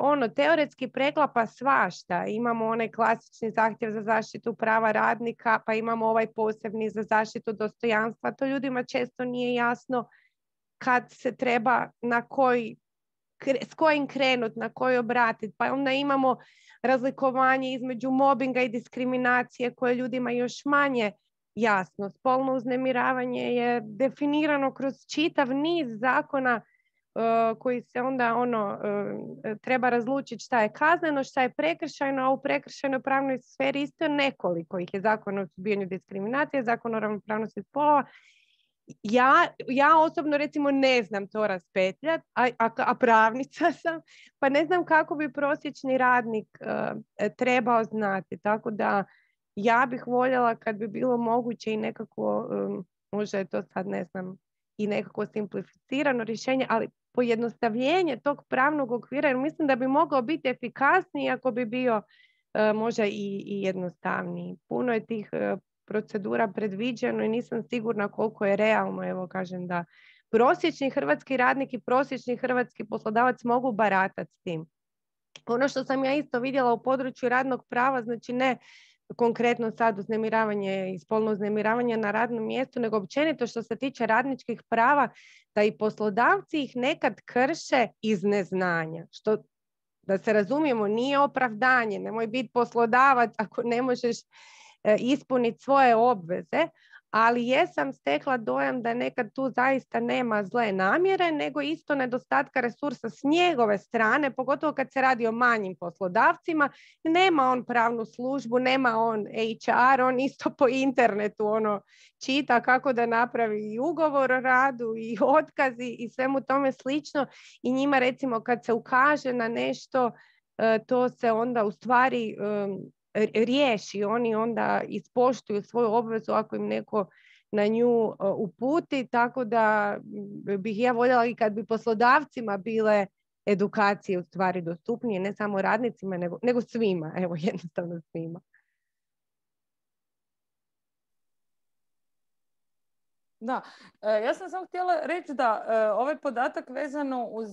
ono teoretski preklapa svašta. Imamo onaj klasični zahtjev za zaštitu prava radnika, pa imamo ovaj posebni za zaštitu dostojanstva. To ljudima često nije jasno kad se treba na koji, s kojim krenut, na koji obratiti. Pa onda imamo razlikovanje između mobinga i diskriminacije koje ljudima još manje jasno. Spolno uznemiravanje je definirano kroz čitav niz zakona uh, koji se onda ono uh, treba razlučiti šta je kazneno, šta je prekršajno, a u prekršajnoj pravnoj sferi isto nekoliko ih je: Zakon o suzbijanju diskriminacije, Zakon o ravnopravnosti spolova. Ja, ja osobno recimo ne znam to raspetljati, a, a, a pravnica sam, pa ne znam kako bi prosječni radnik uh, trebao znati. Tako da ja bih voljela kad bi bilo moguće i nekako, um, možda je to sad ne znam, i nekako simplificirano rješenje, ali pojednostavljenje tog pravnog okvira, jer mislim da bi mogao biti efikasniji ako bi bio uh, možda i, i jednostavniji. Puno je tih uh, procedura predviđeno i nisam sigurna koliko je realno, evo kažem, da prosječni hrvatski radnik i prosječni hrvatski poslodavac mogu baratati s tim. Ono što sam ja isto vidjela u području radnog prava, znači ne konkretno sad uznemiravanje i spolno uznemiravanje na radnom mjestu, nego općenito što se tiče radničkih prava, da i poslodavci ih nekad krše iz neznanja. Što, da se razumijemo, nije opravdanje, nemoj biti poslodavac ako ne možeš e, ispuniti svoje obveze, ali jesam stekla dojam da nekad tu zaista nema zle namjere, nego isto nedostatka resursa s njegove strane, pogotovo kad se radi o manjim poslodavcima. Nema on pravnu službu, nema on H R, on isto po internetu ono čita kako da napravi i ugovor o radu i otkazi i svemu tome slično. I njima recimo kad se ukaže na nešto, to se onda u stvari riješi, oni onda ispoštuju svoju obvezu ako im neko na nju uputi, tako da bih ja voljela i kad bi poslodavcima bile edukacije u stvari dostupnije, ne samo radnicima, nego, nego svima, evo jednostavno svima. Da, ja sam samo htjela reći da ovaj podatak vezano uz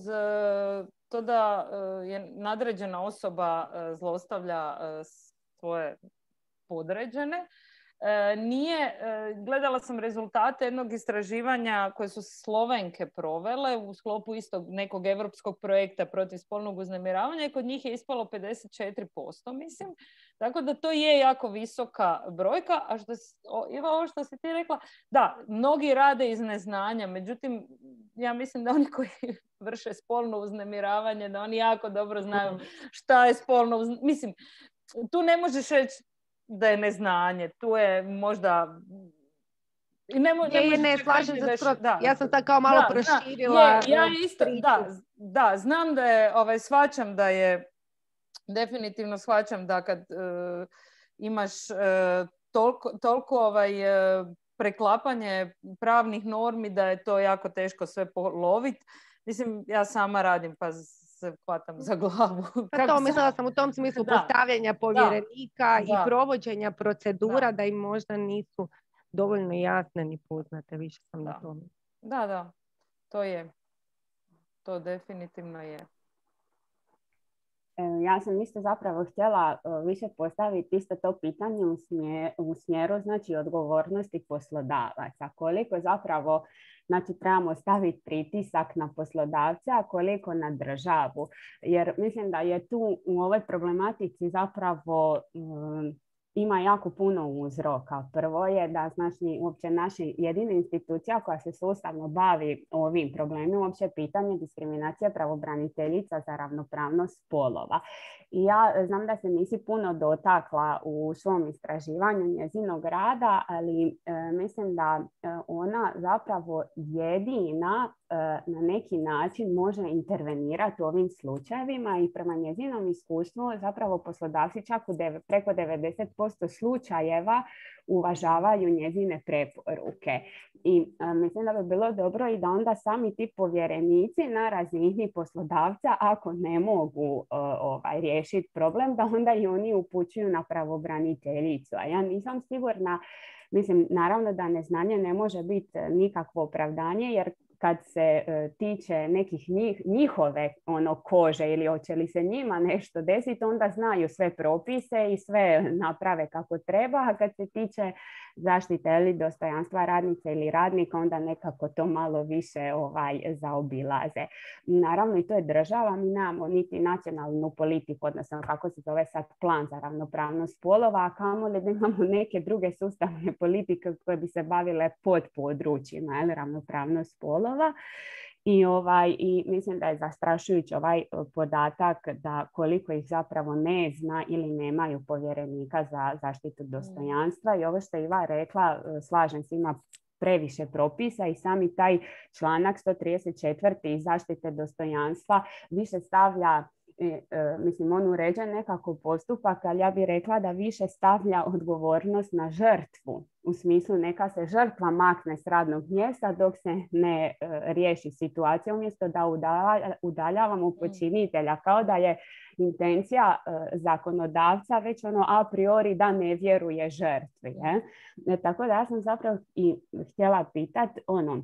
to da je nadređena osoba zlostavlja svoje podređene, nije, gledala sam rezultate jednog istraživanja koje su Slovenke provele u sklopu istog nekog europskog projekta protiv spolnog uznemiravanja i kod njih je ispalo pedeset četiri posto, mislim. Tako da to je jako visoka brojka. A što, Iva, ovo što si ti rekla, da, mnogi rade iz neznanja, međutim, ja mislim da oni koji vrše spolno uznemiravanje, da oni jako dobro znaju šta je spolno uznemiravanje. Mislim, tu ne možeš reći da je neznanje, tu je možda... I ne, mo, ne, je, ne slažem se skroz. Da. Ja sam sad kao malo da, proširila je, ja isto, da, da, znam da je, ovaj, shvaćam da je, definitivno shvaćam da kad uh, imaš uh, toliko, toliko ovaj, uh, preklapanje pravnih normi da je to jako teško sve poloviti. Mislim, ja sama radim pa se hvatam za glavu. Pa to mislila sam u tom smislu da. Postavljanja povjerenika da. I da. Provođenja procedura da. Da im možda nisu dovoljno jasne ni poznate. Više sam da. Na tome. Da, da. To je. To definitivno je. Ja sam isto zapravo htjela više postaviti isto to pitanje u smjeru, u smjeru znači odgovornosti poslodavaca. Koliko zapravo znači trebamo staviti pritisak na poslodavca, a koliko na državu. Jer mislim da je tu u ovoj problematici zapravo um, ima jako puno uzroka. Prvo je da znači uopće naša jedina institucija koja se sustavno bavi ovim problemima, uopće pitanje diskriminacije pravobraniteljica za ravnopravnost spolova. I ja znam da se nisi puno dotakla u svom istraživanju njezinog rada, ali e, mislim da e, ona zapravo jedina e, na neki način može intervenirati u ovim slučajevima i prema njezinom iskustvu zapravo poslodavci čak u deve, preko devedeset posto slučajeva uvažavaju njezine preporuke. I a, mislim da bi bilo dobro i da onda sami ti povjerenici na razini poslodavca, ako ne mogu a, ovaj, riješiti problem, da onda i oni upućuju na pravobraniteljicu. A ja nisam sigurna, mislim, naravno da neznanje ne može biti nikakvo opravdanje, jer kad se e, tiče nekih njih, njihove ono, kože ili hoće li se njima nešto desiti, onda znaju sve propise i sve naprave kako treba, a kad se tiče zaštite ili dostojanstva radnice ili radnika, onda nekako to malo više ovaj, zaobilaze. Naravno i to je država, mi nemamo niti nacionalnu politiku, odnosno kako se zove sad plan za ravnopravnost spolova, a kamoli da imamo neke druge sustavne politike koje bi se bavile pod područjima ili ravnopravnost spolova. I, ovaj, I mislim da je zastrašujući ovaj podatak da koliko ih zapravo ne zna ili nemaju povjerenika za zaštitu dostojanstva. I ovo što je Iva rekla, slažem se, ima previše propisa i sami taj članak sto trideset četiri zaštite dostojanstva više stavlja, e, e, mislim, on uređuje nekako postupak, ali ja bih rekla da više stavlja odgovornost na žrtvu. U smislu neka se žrtva makne s radnog mjesta dok se ne e, riješi situacija, umjesto da udalja, udaljavamo počinitelja, kao da je intencija e, zakonodavca već ono a priori da ne vjeruje žrtvi. Je? E, tako da ja sam zapravo i htjela pitati ono,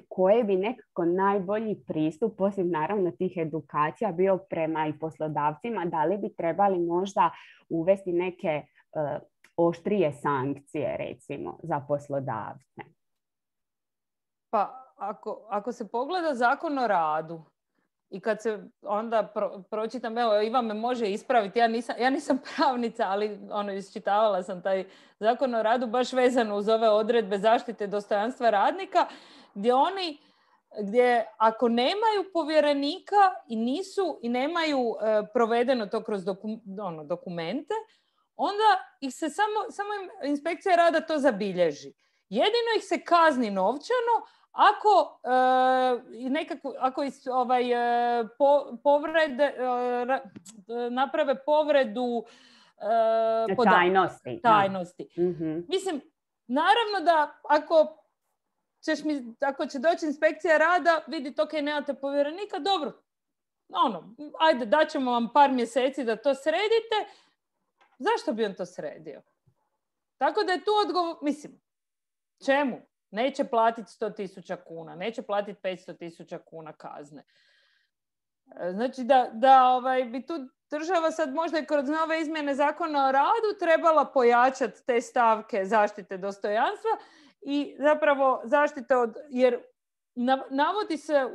koji bi nekako najbolji pristup, osim naravno tih edukacija, bio prema i poslodavcima, da li bi trebali možda uvesti neke e, oštrije sankcije, recimo, za poslodavce? Pa, ako, ako se pogleda Zakon o radu i kad se onda pro, pročitam, evo, Iva me može ispraviti, ja nisam, ja nisam pravnica, ali ono, isčitavala sam taj Zakon o radu baš vezano uz ove odredbe zaštite dostojanstva radnika, gdje oni, gdje ako nemaju povjerenika i nisu i nemaju e, provedeno to kroz doku, ono, dokumente, onda ih se samo, samo im inspekcija rada to zabilježi. Jedino ih se kazni novčano ako, e, nekako, ako is, ovaj, e, po, povrede, e, naprave povredu e, podataka. Tajnosti. Tajnosti. Mm-hmm. Mislim, naravno da ako, ćeš mi, ako će doći inspekcija rada, vidite, ok, nemate povjerenika, dobro, ono, ajde, daćemo vam par mjeseci da to sredite, zašto bi on to sredio? Tako da je tu odgovor, mislim, čemu? Neće platiti sto tisuća kuna, neće platiti petsto tisuća kuna kazne. Znači da, da ovaj, bi tu država sad možda i kroz nove izmjene zakona o radu trebala pojačati te stavke zaštite dostojanstva i zapravo zaštite od, jer navodi se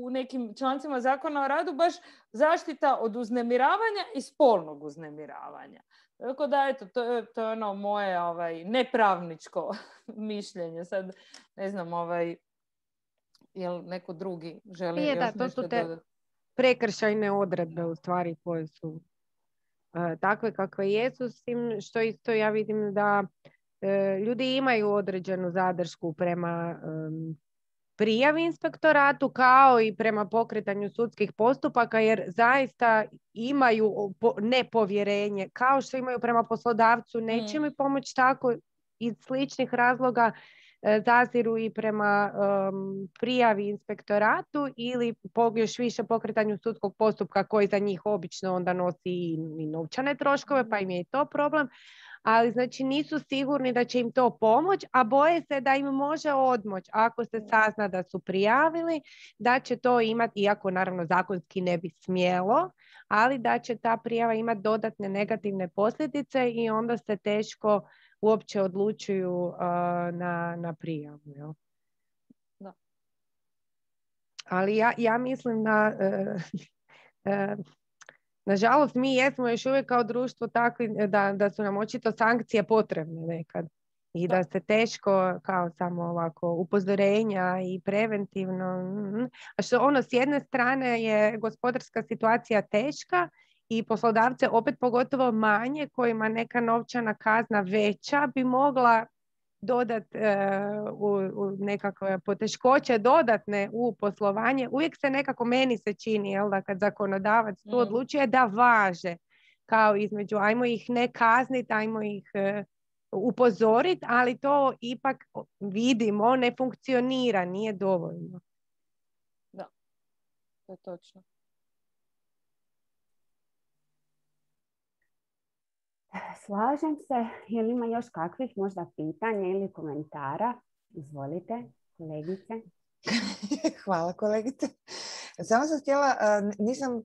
u nekim člancima zakona o radu baš zaštita od uznemiravanja i spolnog uznemiravanja. Tako da, eto, to je, to je ono moje ovaj, nepravničko mišljenje. Sad, ne znam, ovaj, jel neko drugi želi je, još da, to nešto su te dodati? Prekršajne odredbe u stvari koje su uh, takve kakve jesu, s tim što isto ja vidim da uh, ljudi imaju određenu zadršku prema um, prijavi inspektoratu kao i prema pokretanju sudskih postupaka jer zaista imaju nepovjerenje kao što imaju prema poslodavcu, neće mi pomoći tako iz sličnih razloga zaziru i prema um, prijavi inspektoratu ili još više pokretanju sudskog postupka koji za njih obično onda nosi i, i novčane troškove pa im je i to problem. Ali znači nisu sigurni da će im to pomoći, a boje se da im može odmoć ako se sazna da su prijavili, da će to imati, iako naravno zakonski ne bi smjelo, ali da će ta prijava imati dodatne negativne posljedice i onda se teško uopće odlučuju uh, na, na prijavu. Jel? Da. Ali ja, ja mislim da uh, uh, nažalost, mi jesmo još uvijek kao društvo takvi da, da su nam očito sankcije potrebne nekad i da se teško kao samo ovako upozorenja i preventivno. A što ono s jedne strane je gospodarska situacija teška i poslodavce opet pogotovo manje kojima neka novčana kazna veća bi mogla dodat e, u, u nekakve poteškoće dodatne u poslovanje. Uvijek se nekako meni se čini jel, da kad zakonodavac tu odlučuje da važe kao između ajmo ih ne kazniti, ajmo ih e, upozoriti, ali to ipak vidimo ne funkcionira, nije dovoljno. Da, to je točno. Slažem se. Je li ima još kakvih možda pitanja ili komentara? Izvolite, kolegice. Hvala, kolegice. Samo sam htjela, nisam,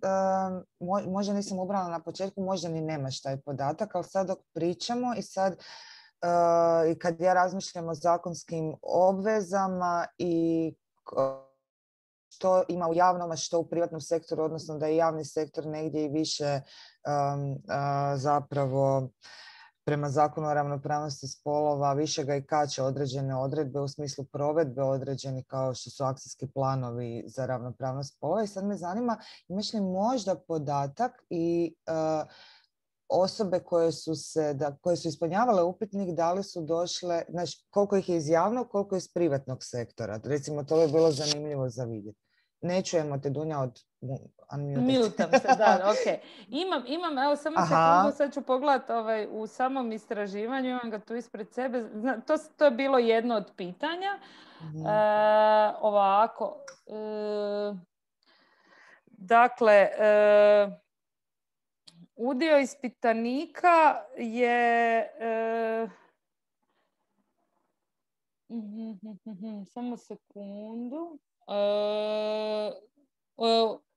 možda nisam ubrala na početku, možda ni nemaš taj podatak, ali sad dok pričamo i sad i kad ja razmišljam o zakonskim obvezama i što ima u javnom, a što u privatnom sektoru, odnosno da je javni sektor negdje i više um, uh, zapravo prema zakonu o ravnopravnosti spolova više ga i kače određene odredbe u smislu provedbe određeni kao što su akcijski planovi za ravnopravnost spolova. I sad me zanima, imaš li možda podatak i uh, osobe koje su, se, da, koje su ispunjavale upitnik, da li su došle, znači koliko ih je iz javnog, koliko iz privatnog sektora. Recimo, to je bilo zanimljivo za vidjeti. Ne čujemo te, Dunja, od... Mutam se, da, ok. Imam, imam, evo samo Aha. sekundu, sad ću pogledati ovaj, u samom istraživanju, imam ga tu ispred sebe. Zna, to, to je bilo jedno od pitanja. Mm-hmm. E, ovako. E, dakle, e, udio ispitanika je... E, samo sekundu. E,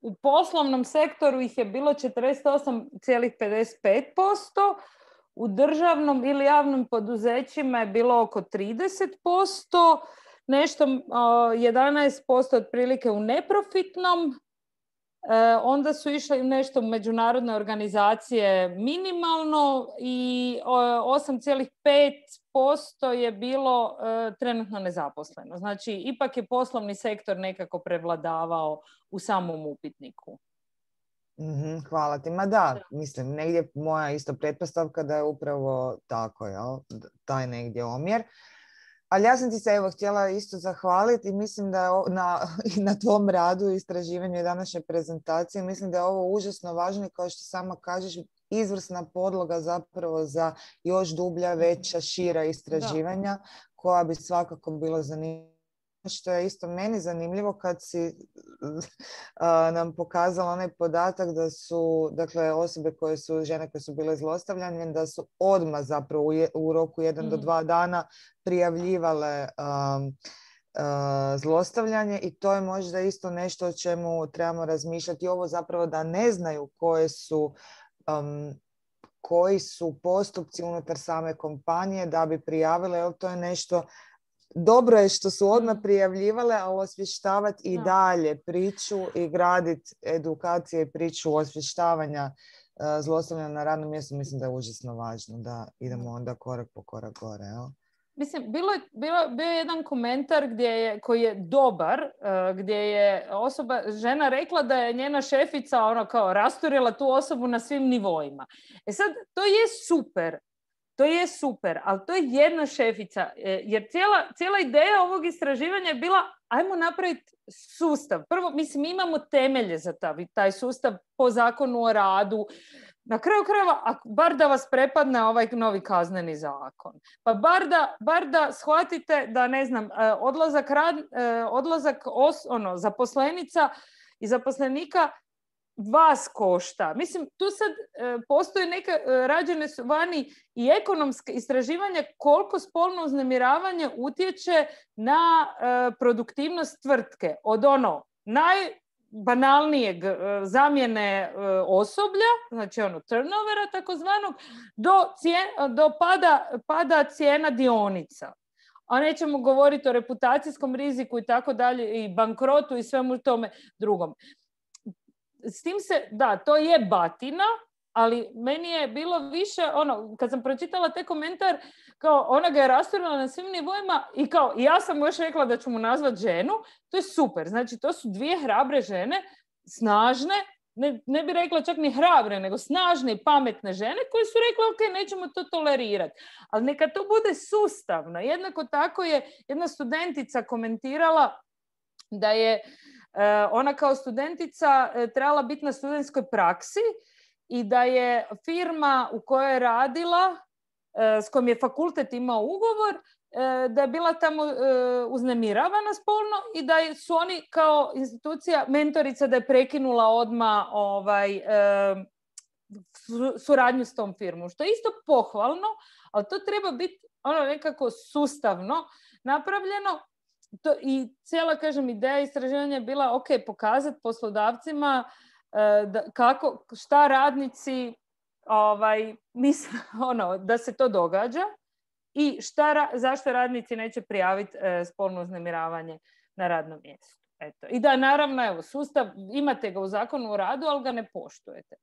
u poslovnom sektoru ih je bilo četrdeset osam zarez pedeset pet posto, u državnom ili javnim poduzećima je bilo oko trideset posto, nešto jedanaest posto otprilike u neprofitnom, onda su išle nešto u međunarodne organizacije minimalno i osam zarez pet posto je bilo trenutno nezaposleno. Znači, ipak je poslovni sektor nekako prevladavao u samom upitniku. Mm-hmm, hvala ti. Ma da, mislim, negdje moja isto pretpostavka da je upravo tako, jel? Taj negdje omjer. Ali ja sam ti se evo htjela isto zahvaliti i mislim da je na, na tvom radu i istraživanju i današnje prezentacije, mislim da je ovo užasno važno i kao što sama kažeš, izvrsna podloga zapravo za još dublja, veća, šira istraživanja da. Koja bi svakako bilo zanimljiva što je isto meni zanimljivo kad si a, nam pokazala onaj podatak da su, dakle, osobe koje su, žene koje su bile zlostavljane, da su odmah zapravo u, je, u roku jedan mm. do dva dana prijavljivale um, uh, zlostavljanje i to je možda isto nešto o čemu trebamo razmišljati. Ovo zapravo da ne znaju koje su um, koji su postupci unutar same kompanije da bi prijavile, jer to je nešto. Dobro je što su odmah prijavljivale, ali osvještavati i dalje priču i graditi edukacije i priču osvještavanja uh, zlostavljanja na radnom mjestu, mislim da je užasno važno da idemo onda korak po korak gore. Jel? Mislim, bilo je, bilo, bio je jedan komentar gdje je, koji je dobar, uh, gdje je osoba, žena rekla da je njena šefica ono kao rasturila tu osobu na svim nivoima. E sad, to je super. To je super, ali to je jedna šefica, jer cijela, cijela ideja ovog istraživanja je bila ajmo napraviti sustav. Prvo, mislim, imamo temelje za taj, taj sustav po zakonu o radu. Na kraju krajeva, bar da vas prepadne ovaj novi kazneni zakon. Pa bar da, bar da shvatite da, ne znam, odlazak, rad, odlazak os, ono, zaposlenica i zaposlenika vas košta. Mislim, tu sad e, postoje neke, e, rađene su vani i ekonomske istraživanja koliko spolno uznemiravanje utječe na e, produktivnost tvrtke. Od ono najbanalnijeg e, zamjene e, osoblja, znači ono turnovera takozvanog, do, cijen, do pada, pada cijena dionica. A nećemo govoriti o reputacijskom riziku i tako dalje, i bankrotu i svemu tome drugom. S tim se, da, to je batina, ali meni je bilo više, ono, kad sam pročitala te komentar, kao ona ga je rasturila na svim nivoima i kao, ja sam još rekla da ću mu nazvat ženu, to je super. Znači, to su dvije hrabre žene, snažne, ne, ne bi rekla čak ni hrabre, nego snažne i pametne žene koje su rekle, ok, nećemo to tolerirati. Ali neka to bude sustavno. Jednako tako je jedna studentica komentirala da je ona kao studentica trebala biti na studentskoj praksi i da je firma u kojoj je radila, s kojom je fakultet imao ugovor, da je bila tamo uznemiravana spolno i da su oni kao institucija mentorica da je prekinula odmah ovaj, suradnju s tom firmom. Što je isto pohvalno, ali to treba biti ono nekako sustavno napravljeno. To, i cijela, kažem, ideja istraživanja je bila ok, pokazati poslodavcima e, da, kako, šta radnici ovaj, misle, ono, da se to događa i šta, zašto radnici neće prijaviti e, spolno uznemiravanje na radnom mjestu. Eto. I da, naravno, evo, sustav, imate ga u zakonu o radu, ali ga ne poštujete.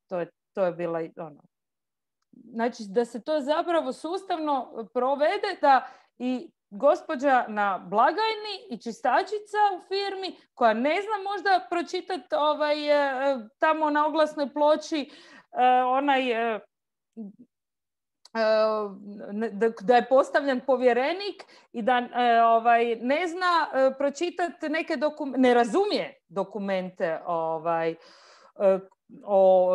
To je, to je bila ono. Znači, da se to zapravo sustavno provede, da i gospođa na blagajni i čistačica u firmi koja ne zna možda pročitati ovaj, tamo na oglasnoj ploči onaj, da je postavljen povjerenik i da ovaj, ne zna pročitati neke dokumente, ne razumije dokumente ovaj, o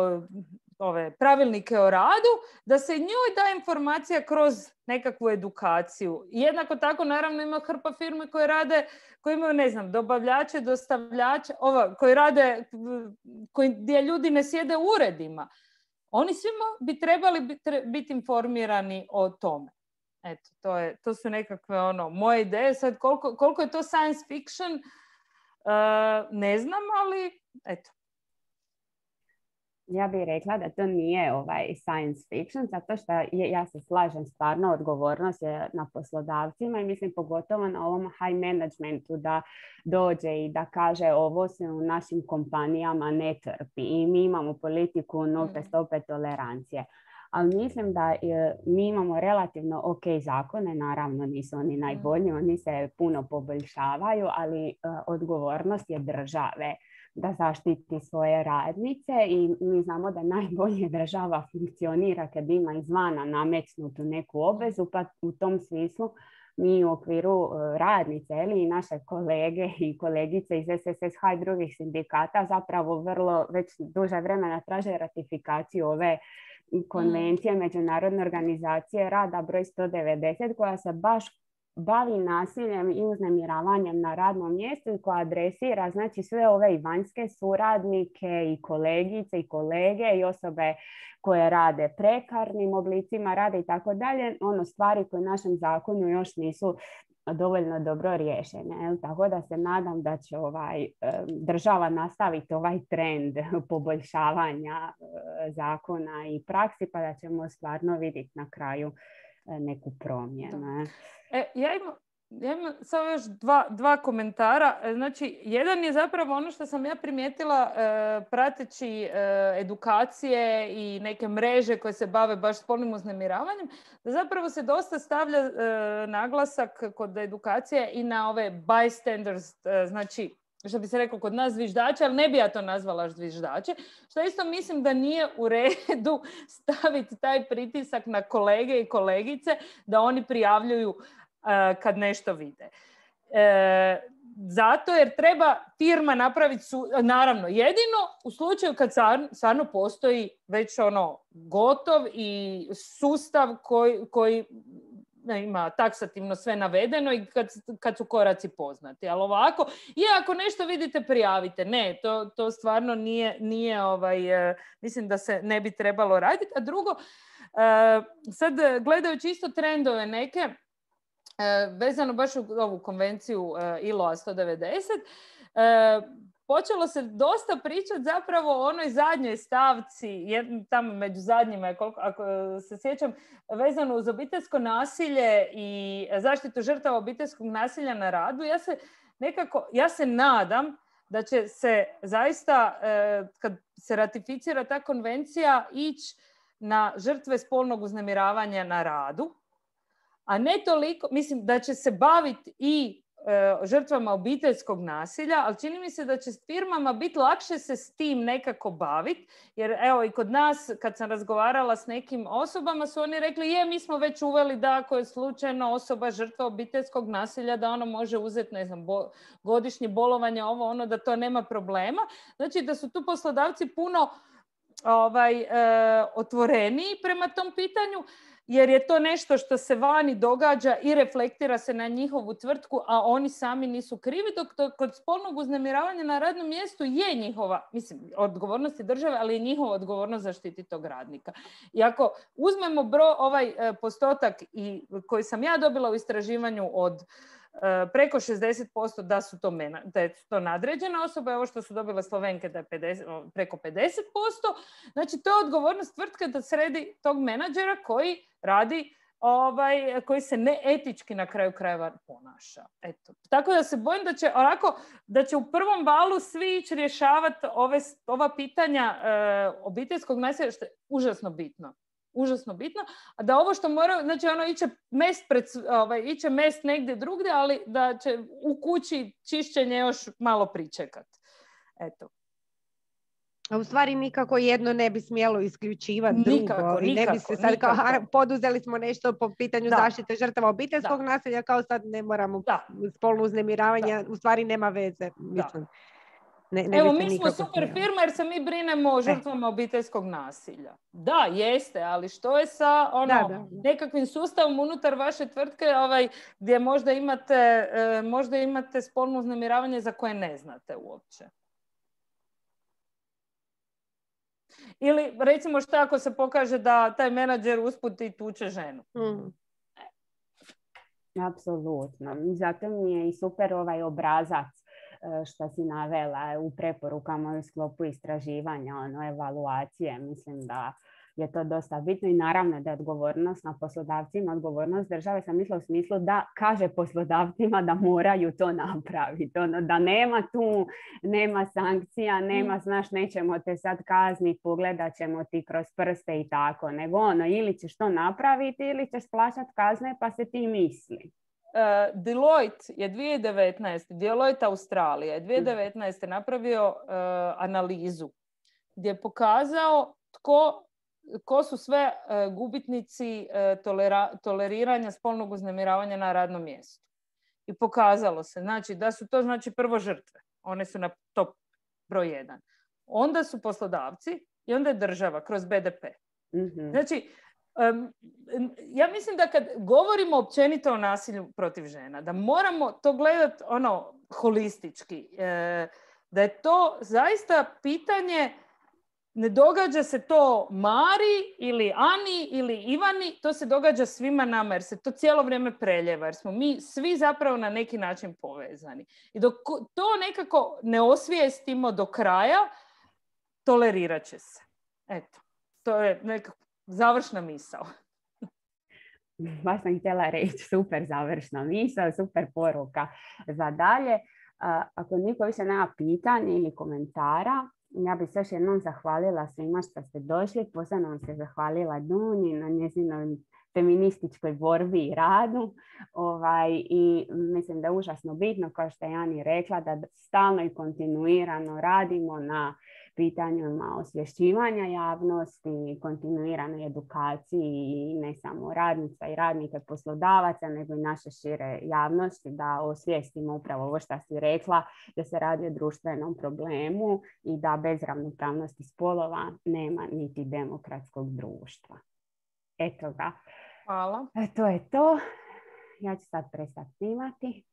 ove pravilnike o radu, da se njoj da informacija kroz nekakvu edukaciju. Jednako tako, naravno, ima hrpa firme koje rade, koji imaju, ne znam, dobavljače, dostavljače, ova, koji rade, koji, gdje ljudi ne sjede u uredima. Oni svima bi trebali biti, biti informirani o tome. Eto, to, je, to su nekakve ono, moje ideje. Sad, koliko, koliko je to science fiction, uh, ne znam, ali eto. Ja bih rekla da to nije ovaj science fiction, zato što je, ja se slažem, stvarno odgovornost je na poslodavcima i mislim pogotovo na ovom high managementu da dođe i da kaže ovo se u našim kompanijama ne trpi i mi imamo politiku nulte stope tolerancije. Ali mislim da mi imamo relativno ok zakone, naravno nisu oni najbolji, oni se puno poboljšavaju, ali odgovornost je države da zaštiti svoje radnice i mi znamo da najbolje država funkcionira kad ima izvana nametnutu neku obvezu, pa u tom smislu mi u okviru radnice ili i naše kolege i kolegice iz S S S H i drugih sindikata zapravo vrlo već duže vremena traže ratifikaciju ove konvencije mm. Međunarodne organizacije rada broj sto devedeset koja se baš bavi nasiljem i uznemiravanjem na radnom mjestu i koja adresira znači sve ove i vanjske suradnike i kolegice i kolege i osobe koje rade prekarnim oblicima rada i tako dalje, ono stvari koje u našem zakonu još nisu dovoljno dobro riješene. Tako da se nadam da će ovaj, država nastaviti ovaj trend poboljšavanja zakona i praksi, pa da ćemo stvarno vidjeti na kraju neku promjenu. E, ja imam, ja imam samo još dva, dva komentara. Znači, jedan je zapravo ono što sam ja primijetila e, prateći e, edukacije i neke mreže koje se bave baš spolnim uznemiravanjem, da zapravo se dosta stavlja e, naglasak kod edukacije i na ove bystanders, e, znači što bi se reklo kod nas zviždače, ali ne bi ja to nazvala zviždače, što isto mislim da nije u redu staviti taj pritisak na kolege i kolegice da oni prijavljuju uh, kad nešto vide. E, zato jer treba firma napraviti, su, naravno, jedino u slučaju kad stvarno postoji već ono gotov i sustav koji, koji ima taksativno sve navedeno i kad, kad su koraci poznati. Ali ovako, i ako nešto vidite, prijavite. Ne, to, to stvarno nije, nije ovaj, uh, mislim da se ne bi trebalo raditi. A drugo, uh, sad gledajući isto trendove neke, uh, vezano baš u ovu konvenciju uh, I L O sto devedeset, uh, počelo se dosta pričati zapravo o onoj zadnjoj stavci, jed, tamo među zadnjima, koliko, ako se sjećam, vezano uz obiteljsko nasilje i zaštitu žrtava obiteljskog nasilja na radu. Ja se nekako, ja se nadam da će se zaista, eh, kad se ratificira ta konvencija, ići na žrtve spolnog uznemiravanja na radu, a ne toliko, mislim da će se baviti i žrtvama obiteljskog nasilja, ali čini mi se da će firmama biti lakše se s tim nekako baviti, jer evo i kod nas kad sam razgovarala s nekim osobama su oni rekli je, mi smo već uveli da ako je slučajno osoba žrtva obiteljskog nasilja da ono može uzeti, ne znam, bo, godišnje bolovanje, ovo ono, da to nema problema. Znači da su tu poslodavci puno ovaj, e, otvoreniji prema tom pitanju, jer je to nešto što se vani događa i reflektira se na njihovu tvrtku, a oni sami nisu krivi, dok to kod spolnog uznemiravanja na radnom mjestu je njihova, mislim, odgovornost je države, ali je njihova odgovornost zaštiti tog radnika. I ako uzmemo bro, ovaj e, postotak i, koji sam ja dobila u istraživanju od e, preko šezdeset posto da su to, mena, da je to nadređena osoba, ovo što su dobile Slovenke da je pedeset, preko pedeset posto, znači to je odgovornost tvrtke da sredi tog menadžera koji radi, ovaj, koji se neetički na kraju krajeva ponaša. Eto. Tako da se bojim da će, onako, da će u prvom valu svi ići rješavati ove, ova pitanja e, obiteljskog nasilja, što je užasno bitno. Užasno bitno. A da ovo što mora, znači ono iće mest, pred, ovaj, iće mest negdje drugdje, ali da će u kući čišćenje još malo pričekati. Eto. A u stvari nikako jedno ne bi smjelo isključivati drugo. Nikako, I ne bi se sad kao, a, poduzeli smo nešto po pitanju da. zaštite žrtava obiteljskog da. nasilja, kao sad ne moramo da. spolno uznemiravanje, da. u stvari nema veze. Mislim. Ne, ne Evo, mi smo super smijelo. firma jer se mi brinemo o žrtvama e. obiteljskog nasilja. Da, jeste, ali što je sa ono, da, da. nekakvim sustavom unutar vaše tvrtke ovaj, gdje možda imate, eh, možda imate spolno uznemiravanje za koje ne znate uopće? Ili recimo što ako se pokaže da taj menadžer usput i tuče ženu? Mm. Apsolutno. Zato mi je i super ovaj obrazac što si navela u preporukama u sklopu istraživanja, ono, evaluacije. Mislim da je to dosta bitno i naravno da je odgovornost na poslodavcima, odgovornost države, sam mislila u smislu da kaže poslodavcima da moraju to napraviti. Ono, da nema tu, nema sankcija, nema, znaš, nećemo te sad kazniti, pogledat ćemo ti kroz prste i tako, nego ono, ili ćeš to napraviti ili ćeš plaćati kazne pa se ti misli. Uh, Deloitte je dvije tisuće devetnaeste. Deloitte Australija je dvije tisuće devetnaeste napravio uh, analizu gdje je pokazao tko, ko su sve uh, gubitnici uh, tolera, toleriranja spolnog uznemiravanja na radnom mjestu. I pokazalo se znači, da su to znači prvo žrtve. One su na top broj jedan. Onda su poslodavci i onda je država kroz B D P. Mm-hmm. Znači, Um, ja mislim da kad govorimo općenito o nasilju protiv žena, da moramo to gledati ono holistički. E, da je to zaista pitanje, ne događa se to Mari ili Ani ili Ivani, to se događa svima nama jer se to cijelo vrijeme preljeva, jer smo mi svi zapravo na neki način povezani. I dok to nekako ne osvijestimo do kraja, tolerirat će se. Eto, to je nekako završna misao. Baš sam htjela reći, super završna misao, super poruka za dalje. Ako niko više nema pitanja ili komentara, ja bih se još jednom zahvalila svima što ste došli. Posebno vam se zahvalila Dunji na njezinoj feminističkoj borbi i radu. Ovaj, I mislim da je užasno bitno, kao što je Ani rekla, da stalno i kontinuirano radimo na pitanjima osvješćivanja javnosti, kontinuiranoj edukaciji ne samo radnica i radnika i poslodavaca, nego i naše šire javnosti, da osvijestimo upravo ovo što si rekla, da se radi o društvenom problemu i da bez ravnopravnosti spolova nema niti demokratskog društva. Eto ga. Hvala. E, to je to. Ja ću sad prestati snimati.